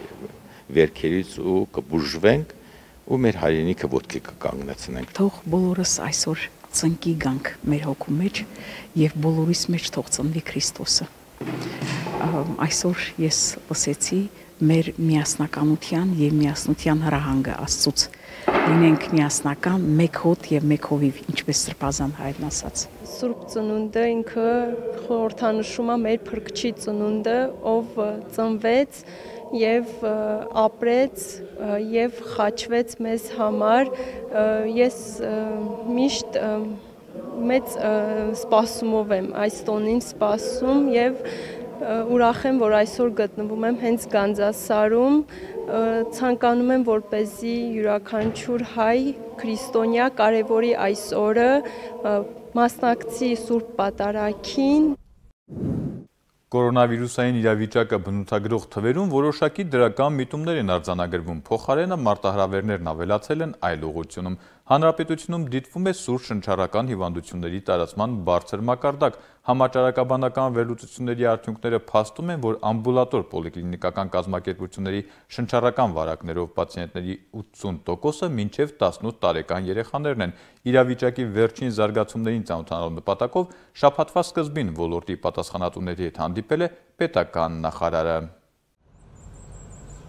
վերքերից ու կբուժվենք ու մեր հայրենիքը ոտքի կկանգնեցնենք։ Թող բոլորս այսօր ծնկի գանք մեր հոգու մեջ եւ բոլորիս մեջ թող ծնվի Քրիստոսը։ Այսօր ես լսեցի մեր միասնականության և միասնության հրահանգը Աստծուց։ Լինենք միասնական, մեկ հոտ և մեկ հովիվ, ինչպես Սրբազան հայրն ասաց։ Սուրբ Ծնունդը ինքը խորհրդանշում է մեր Փրկչի ծնունդը, ով ծնվեց և ապրեց և խաչվեց մեզ համար։ Ես միշտ մեծ սպասումով եմ այս տոնին սպասում և ուրախ եմ, որ այսօր գտնվում եմ հենց Գանձասարում, ցանկանում եմ, որպեսզի յուրաքանչյուր հայ քրիստոնյա կարևորի այս օրը, մասնակցի Սուրբ Պատարագին։ Կորոնավիրուսային իրավիճակը բնութագրող թվերում որոշակի դրական միտումներ են արձանագրվում, փոխարենը մարտահրավերներն ավելացել են այլ ուղղությունում։ Հանրապետությունում դիտվում է սուր շնչառական հիվանդությունների տարածման բարձր մակարդակ։ Համաճարակաբանական վերլուծությունների արդյունքները փաստում են, որ ամբուլատոր պոլիկլինիկական կազմակերպությունների շնչառական վարակներով պացիենտների ութսուն տոկոսը մինչև տասնութ տարեկան երեխաներն են։ Իրավիճակի վերջին զարգացումներին ծանոթանալու նպատակով շաբաթվա սկզբին ոլորտի պատասխանատուների հետ հանդիպել է պետական նախարարը։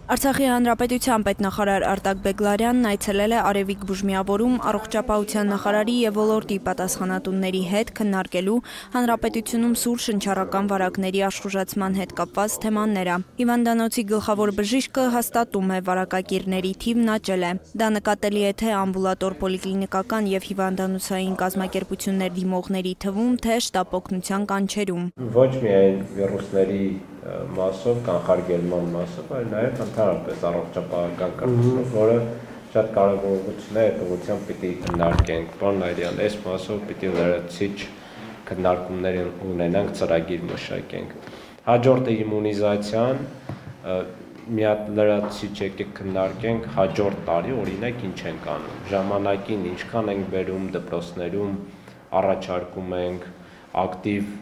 Արցախի հանրապետության պետնախարար Արտակ Բեգլարյանն այցելել է Արևիկ բուժմիավորում առողջապահության նախարարի եւ ոլորտի պատասխանատուների հետ քննարկելու հանրապետությունում սուր շնչառական վարակների աշխուժացման հետ կապված թեմաները։ Հիվանդանոցի գլխավոր բժիշկը հաստատում է, վարակակիրների թիվն աճել է։ Դա նկատելի է թե ամբուլատոր պոլիկլինիկական եւ հիվանդանոցային կազմակերպություններ դիմողների թվում, թե շտապօգնության կանչերում։ Ոչ միայն վիրուսների մասով, կանխարգելման մասով, այլ նաև ընդհանրապես առողջապահական կարգախոս, որը շատ կարևորություն է, այդ ուղղությամբ պիտի քննարկենք։ Պարոն Այրյան, այս մասով պիտի լրացիչ քննարկումներ ունենանք, ծրագիր մշակենք։ Հաջորդը իմունիզացիան, մի հատ լրացիչ եկեք քննարկենք հաջորդ տարի օրինակ ինչ ենք անում, ժամանակին ինչքան ենք բերում դպրոցներում, առաջարկում ենք, ակտիվ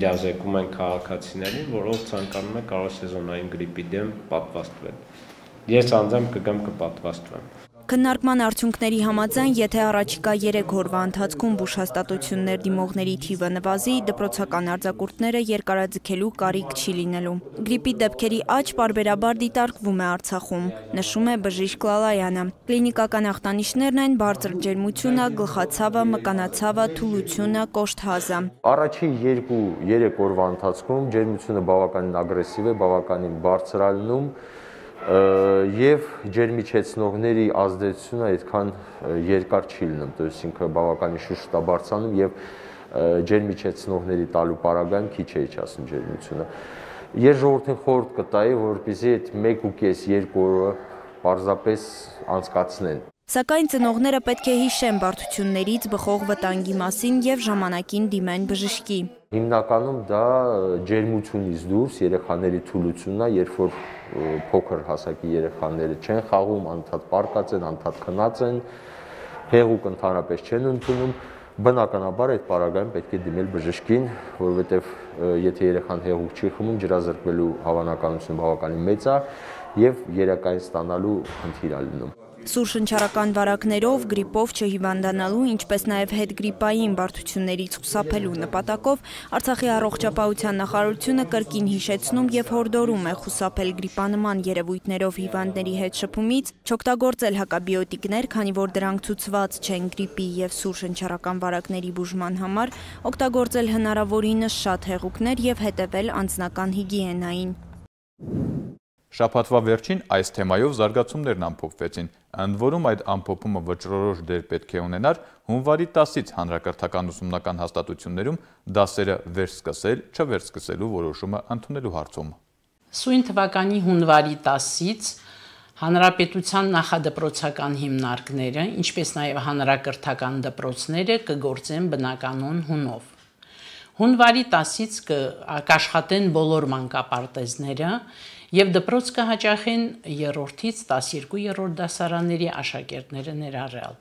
իրազեկում ենք քաղաքացիներին, որով ցանկանում է կարող է սեզոնային գրիպի դեմ պատվաստվել։ Ես անձամբ կգամ կպատվաստվեմ։ Քննարկման արդյունքների համաձայն, եթե առաջիկա երեք օրվա ընթացքում բուժ հաստատություններ դիմողների թիվը նվազի, դպրոցական արձակուրդները երկարաձգելու կարիք չի լինելու։ Գրիպի դեպքերի աճ պարբերաբար դիտարկվում է Արցախում, նշում է բժիշկ Լալայանը։ Կլինիկական ախտանիշներն են բարձր ջերմությունը, գլխացավը, մկանացավը, թուլությունը, կոշտ-հազը։ Առաջին երկու-երեք օրվա ընթացքում ջերմությունը բավականին ագրեսիվ է, բավականին բարձր է լինում և ջերմիչեցնողների ազդեցությունը այդքան երկար չի լինում, то есть ինքը բավականին շուշտ է բարձրանում և ջերմիչեցնողների տալու պարագայում քիչ է իջացնում ջերմությունը։ Ես ժողովրդին խորհուրդ կտայի, որպեսզի այդ մեկ ու կես երկու օրը պարզապես անցկացնեն։ Սակայն ծնողները պետք է հիշեն բարդություններից բխող վտանգի մասին և ժամանակին դիմեն բժշկի։ Հիմնականում դա ջերմությունից դուրս երեխաների թուլությունն է, երբ որ փոքր հասակի երեխաները չեն խաղում, անդադ պառկած են, անդադ քնած են, հեղուկ ընդհանրապես չեն ընդունում, բնականաբար այդ պարագայում պետք է դիմել բժշկին, որովհետև եթե երեխան հեղուկ չի խմում, ջրազրկվելու հավանականությունը բավականին մեծ է և երակային ստանալու խնդիր է լինում։ Սուր շնչառական վարակներով, գրիպով չհիվանդանալու, ինչպես նաև հետգրիպային բարդություններից խուսափելու նպատակով Արցախի առողջապահության նախարարությունը կրկին հիշեցնում և հորդորում է խուսափել գրիպանման երևույթներով հիվանդների հետ շփումից, չօգտագործել հակաբիոտիկներ, քանի որ դրանք ցուցված չեն գրիպի և սուր շնչառական վարակների բուժման համար, օգտագործել հնարավորինս շատ հեղուկներ և հետևել անձնական հիգիենային։ Շաբաթվա վերջին այս թեմայով զարգացումներն ամփոփվեցին, ընդ որում այդ ամփոփումը վճռորոշ դեր պետք է ունենար հունվարի տասից հանրակրթական ուսումնական հաստատություններում դասերը վերսկսել, չվերսկսելու որոշումը ընդունելու հարցում։ Սույն թվականի հունվարի տասից հանրապետության նախադպրոցական հիմնարկները, ինչպես նաև հանրակրթական դպրոցները կգործեն բնականոն հունով։ Հունվարի տասից կաշխատեն բոլոր մանկապարտեզները և դպրոց կհաճախեն երրորդից տասներկու դասարանների աշակերտները ներառյալ։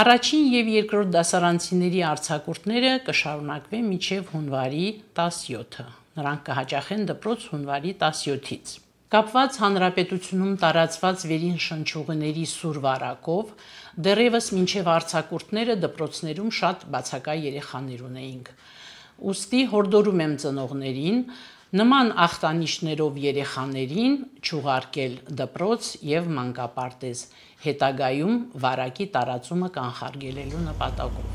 Առաջին և երկրորդ դասարանցիների արձակուրդները կշարունակվեն մինչև հունվարի տասնյոթը։ Նրանք կհաճախեն դպրոց հունվարի տասնյոթից։ Կապված հանրապետությունում տարածված վերին շնչուղիների սուր վարակով դեռևս մինչև արձակուրդները դպրոցներում շատ բացակա երեխաներ ունեինք։ Ուստի հորդորում եմ ծնողներին նման ախտանիշներով երեխաներին չուղարկել դպրոց և մանկապարտեզ, հետագայում վարակի տարածումը կանխարգելելու նպատակով։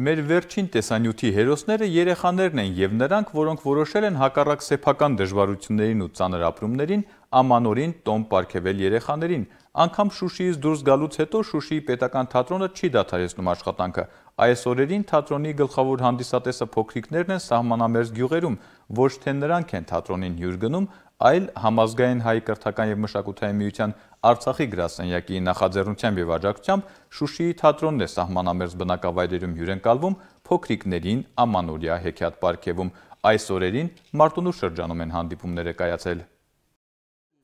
Մեր վերջին տեսանյութի հերոսները երեխաներն են և նրանք, որոնք որոշել են հակառակ սեփական դժվարություններին ու ծանր ապրումներին ամանորին տոն պարգևել երեխաներին։ Անգամ Շուշիից դուրս գալուց հետո Շուշիի պետական թատրոնը չի դադարեցնում աշխատանքը։ Այս օրերին թատրոնի գլխավոր հանդիսատեսը փոքրիկներն են սահմանամերձ գյուղերում, ոչ թե նրանք են թատրոնին հյուր գնում, այլ Համազգային հայ կրթական և մշակութային միության Արցախի գրասենյակի նախաձեռնությամբ և աջակցությամբ Շուշիի թատրոնն է սահմանամերձ բնակավայրերում հյուրընկալվում, փոքրիկներին ամանորյա հեքիաթ պարգևում։ Այս օրերին Մարտունու շրջանում են հանդիպումները կայացել։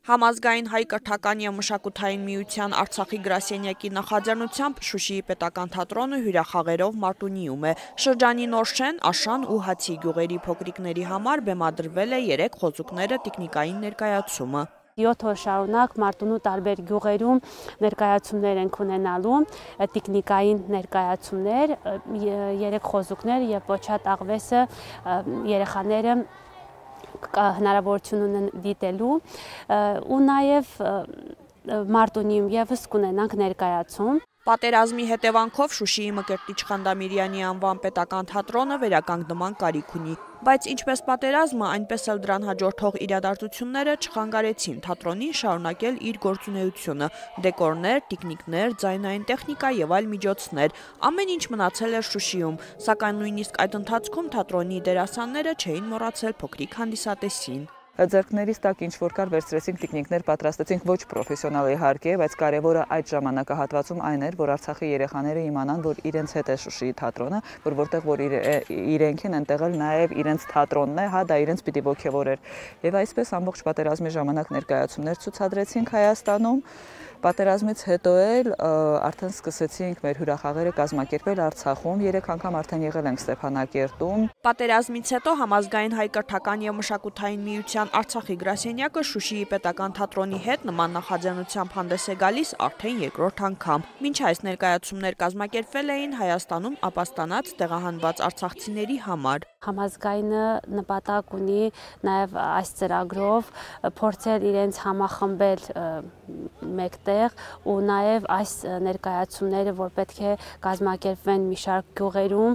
Համազգային հայ կրթական և մշակութային միության Արցախի գրասենյակի նախաձեռնությամբ Շուշիի պետական թատրոնը հյուրախաղերով Մարտունիում է։ Շրջանի Նորշեն, Աշան ու Հացի գյուղերի փոքրիկների համար բեմադրվել է երեք խոզուկները տիկնիկային ներկայացումը։ Յոթ օր շարունակ Մարտունու տարբեր գյուղերում ներկայացումներ ենք ունենալու, տիկնիկային ներկայացումներ, երեք խոզուկներ և Պոչատ աղվեսը երեխաները հնարավորություն ունեն դիտելու ու նաև Մարտունիում ևս կունենանք ներկայացում։ Պատերազմի հետևանքով Շուշիի Մկրտիչ Խանդամիրյանի անվան պետական թատրոնը վերականգնման կարիք ունի, բայց ինչպես պատերազմը, այնպես էլ դրան հաջորդող իրադարձությունները չխանգարեցին թատրոնին շարունակել իր գործունեությունը՝ դեկորներ, տիկնիկներ, ձայնային տեխնիկա և այլ միջոցներ։ Ամեն ինչ մնացել էր Շուշիում, սակայն նույնիսկ այդ ընթացքում թատրոնի դերասանները չէին մոռացել փոքրիկ հանդիսատեսին։ ձեռքներից տակ ինչ որ կար վերցրեցինք տիկնիկներ, պատրաստեցինք ոչ պրոֆեսիոնալ իհարկե, բայց կարևորը այդ ժամանակահատվածում այն էր, որ Արցախի երեխաները իմանան, որ իրենց հետ է Շուշիի թատրոնը, որ որտեղ որ իրենք են ընտեղ էլ նաև իրենց թատրոնն է, հա, դա իրենց պիտի ոգևորեր։ Եվ այսպես ամբողջ պատերազմի ժամանակ ներկայացումներ ցուցադրեցինք Հայաստանում։ Պատերազմից հետո էլ արդեն սկսեցինք մեր հյուրախաղերը կազմակերպել Արցախում, երեք անգամ արդեն եղել ենք Ստեփանակերտում։ Պատերազմից հետո Համազգային հայ կրթական եւ մշակութային միության Արցախի գրասենյակը Շուշիի պետական թատրոնի հետ նման նախաձեռնությամբ հանդես է գալիս արդեն երկրորդ անգամ։ Մինչ այս ներկայացումներ կազմակերպվել էին Հայաստանում ապաստանած տեղահանված արցախցիների համար։ Համազգայինը նպատակ ունի նաև այս ծրագրով փորձել իրենց համախմբել մեկտեղ ու նաև այս ներկայացումները, որ պետք է կազմակերպվեն մի շարք գյուղերում,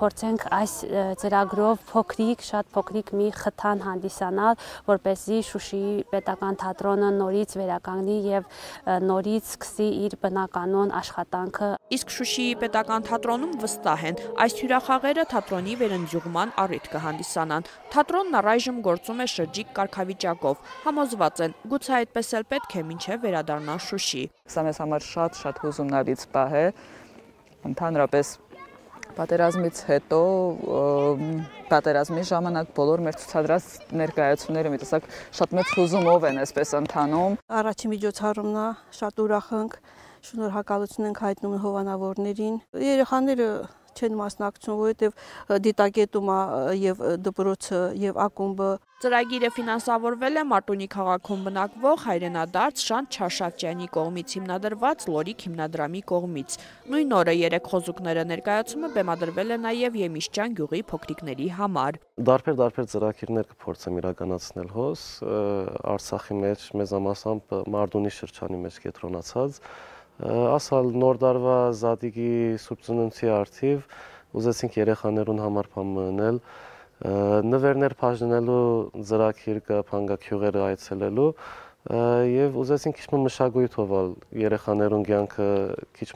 փորձենք այս ծրագրով փոքրիկ, շատ փոքրիկ մի խթան հանդիսանալ, որպեսզի Շուշիի պետական թատրոնը նորից վերականգնի եւ նորից սկսի իր բնականոն աշխատանքը։ Իսկ Շուշիի պետական թատրոնում վստահ են, այս հյուրախաղերը թատրոնի վերընձյուղման առիթ կհանդիսանան։ Թատրոնն առայժմ գործում է շրջիկ կարգավիճակով։ Համոզված են, գուցե այդպես էլ պետք է մինչև վերադառնա Շուշի։ Սա մեզ համար շատ-շատ հուզումնալից պահ է։ Ընդհանրապես պատերազմից հետո պատերազմի ժամանակ բոլոր մեր ցուցադրած ներկայացումները մի տեսակ շատ մեծ հուզումով են այսպես ընթանում։ Առաջին միջոցառումն է, շատ ուրախ ենք, շնորհակալություն ենք հայտնում հովանավորներին։ Երեխաները չեն մասնակցում, որովհետև դիտակետում է եւ դպրոցը եւ ակումբը։ Ծրագիրը ֆինանսավորվել է Մարտունի քաղաքում բնակվող հայրենադարձ Շանթ Չարշավճյանի կողմից հիմնադրված Լորիկ հիմնադրամի կողմից։ Նույն օրը երեք խոզուկները ներկայացումը բեմադրվել է նաև Եմիշճան գյուղի փոքրիկների համար։ Դարբեր-դարբեր ծրագիրներ կփորձեմ իրականացնել հոս Արցախի մեջ, մեծամասամբ Մարտունի շրջանի մեջ կենտրոնացած։ Ասալ նոր դարվա Զատիկի Սուրբ Ծնունդի արդիվ ուզեցինք երեխաներուն համար բան մնել, նվերներ բաժնելու ծրագիր կա փանգակյուղերը այցելելու եւ ուզեցինք քիչ մշակույթ հովել երեխաներուն կյանքը քիչ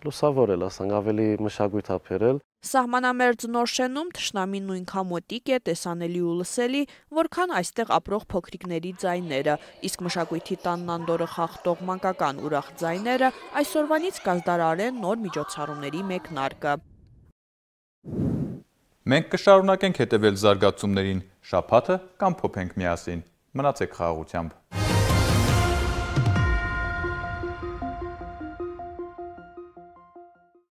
լուսավորել, ասենք ավելի մշակույթ ապերել։ Սահմանամերձ նոր շենում թշնամին նույնքան մոտիկ է, տեսանելի ու լսելի, որքան այստեղ ապրող փոքրիկների ձայները, իսկ մշակույթի տանն անդորը խախտող մանկական ուրախ ձայները այսօրվանից կազդարարեն նոր միջոցառումների մեկնարկը։ Մենք կշարունակենք հետևել զարգացումներին, շաբաթը կամ փոփենք միասին։ Մնացեք խաղաղությամբ։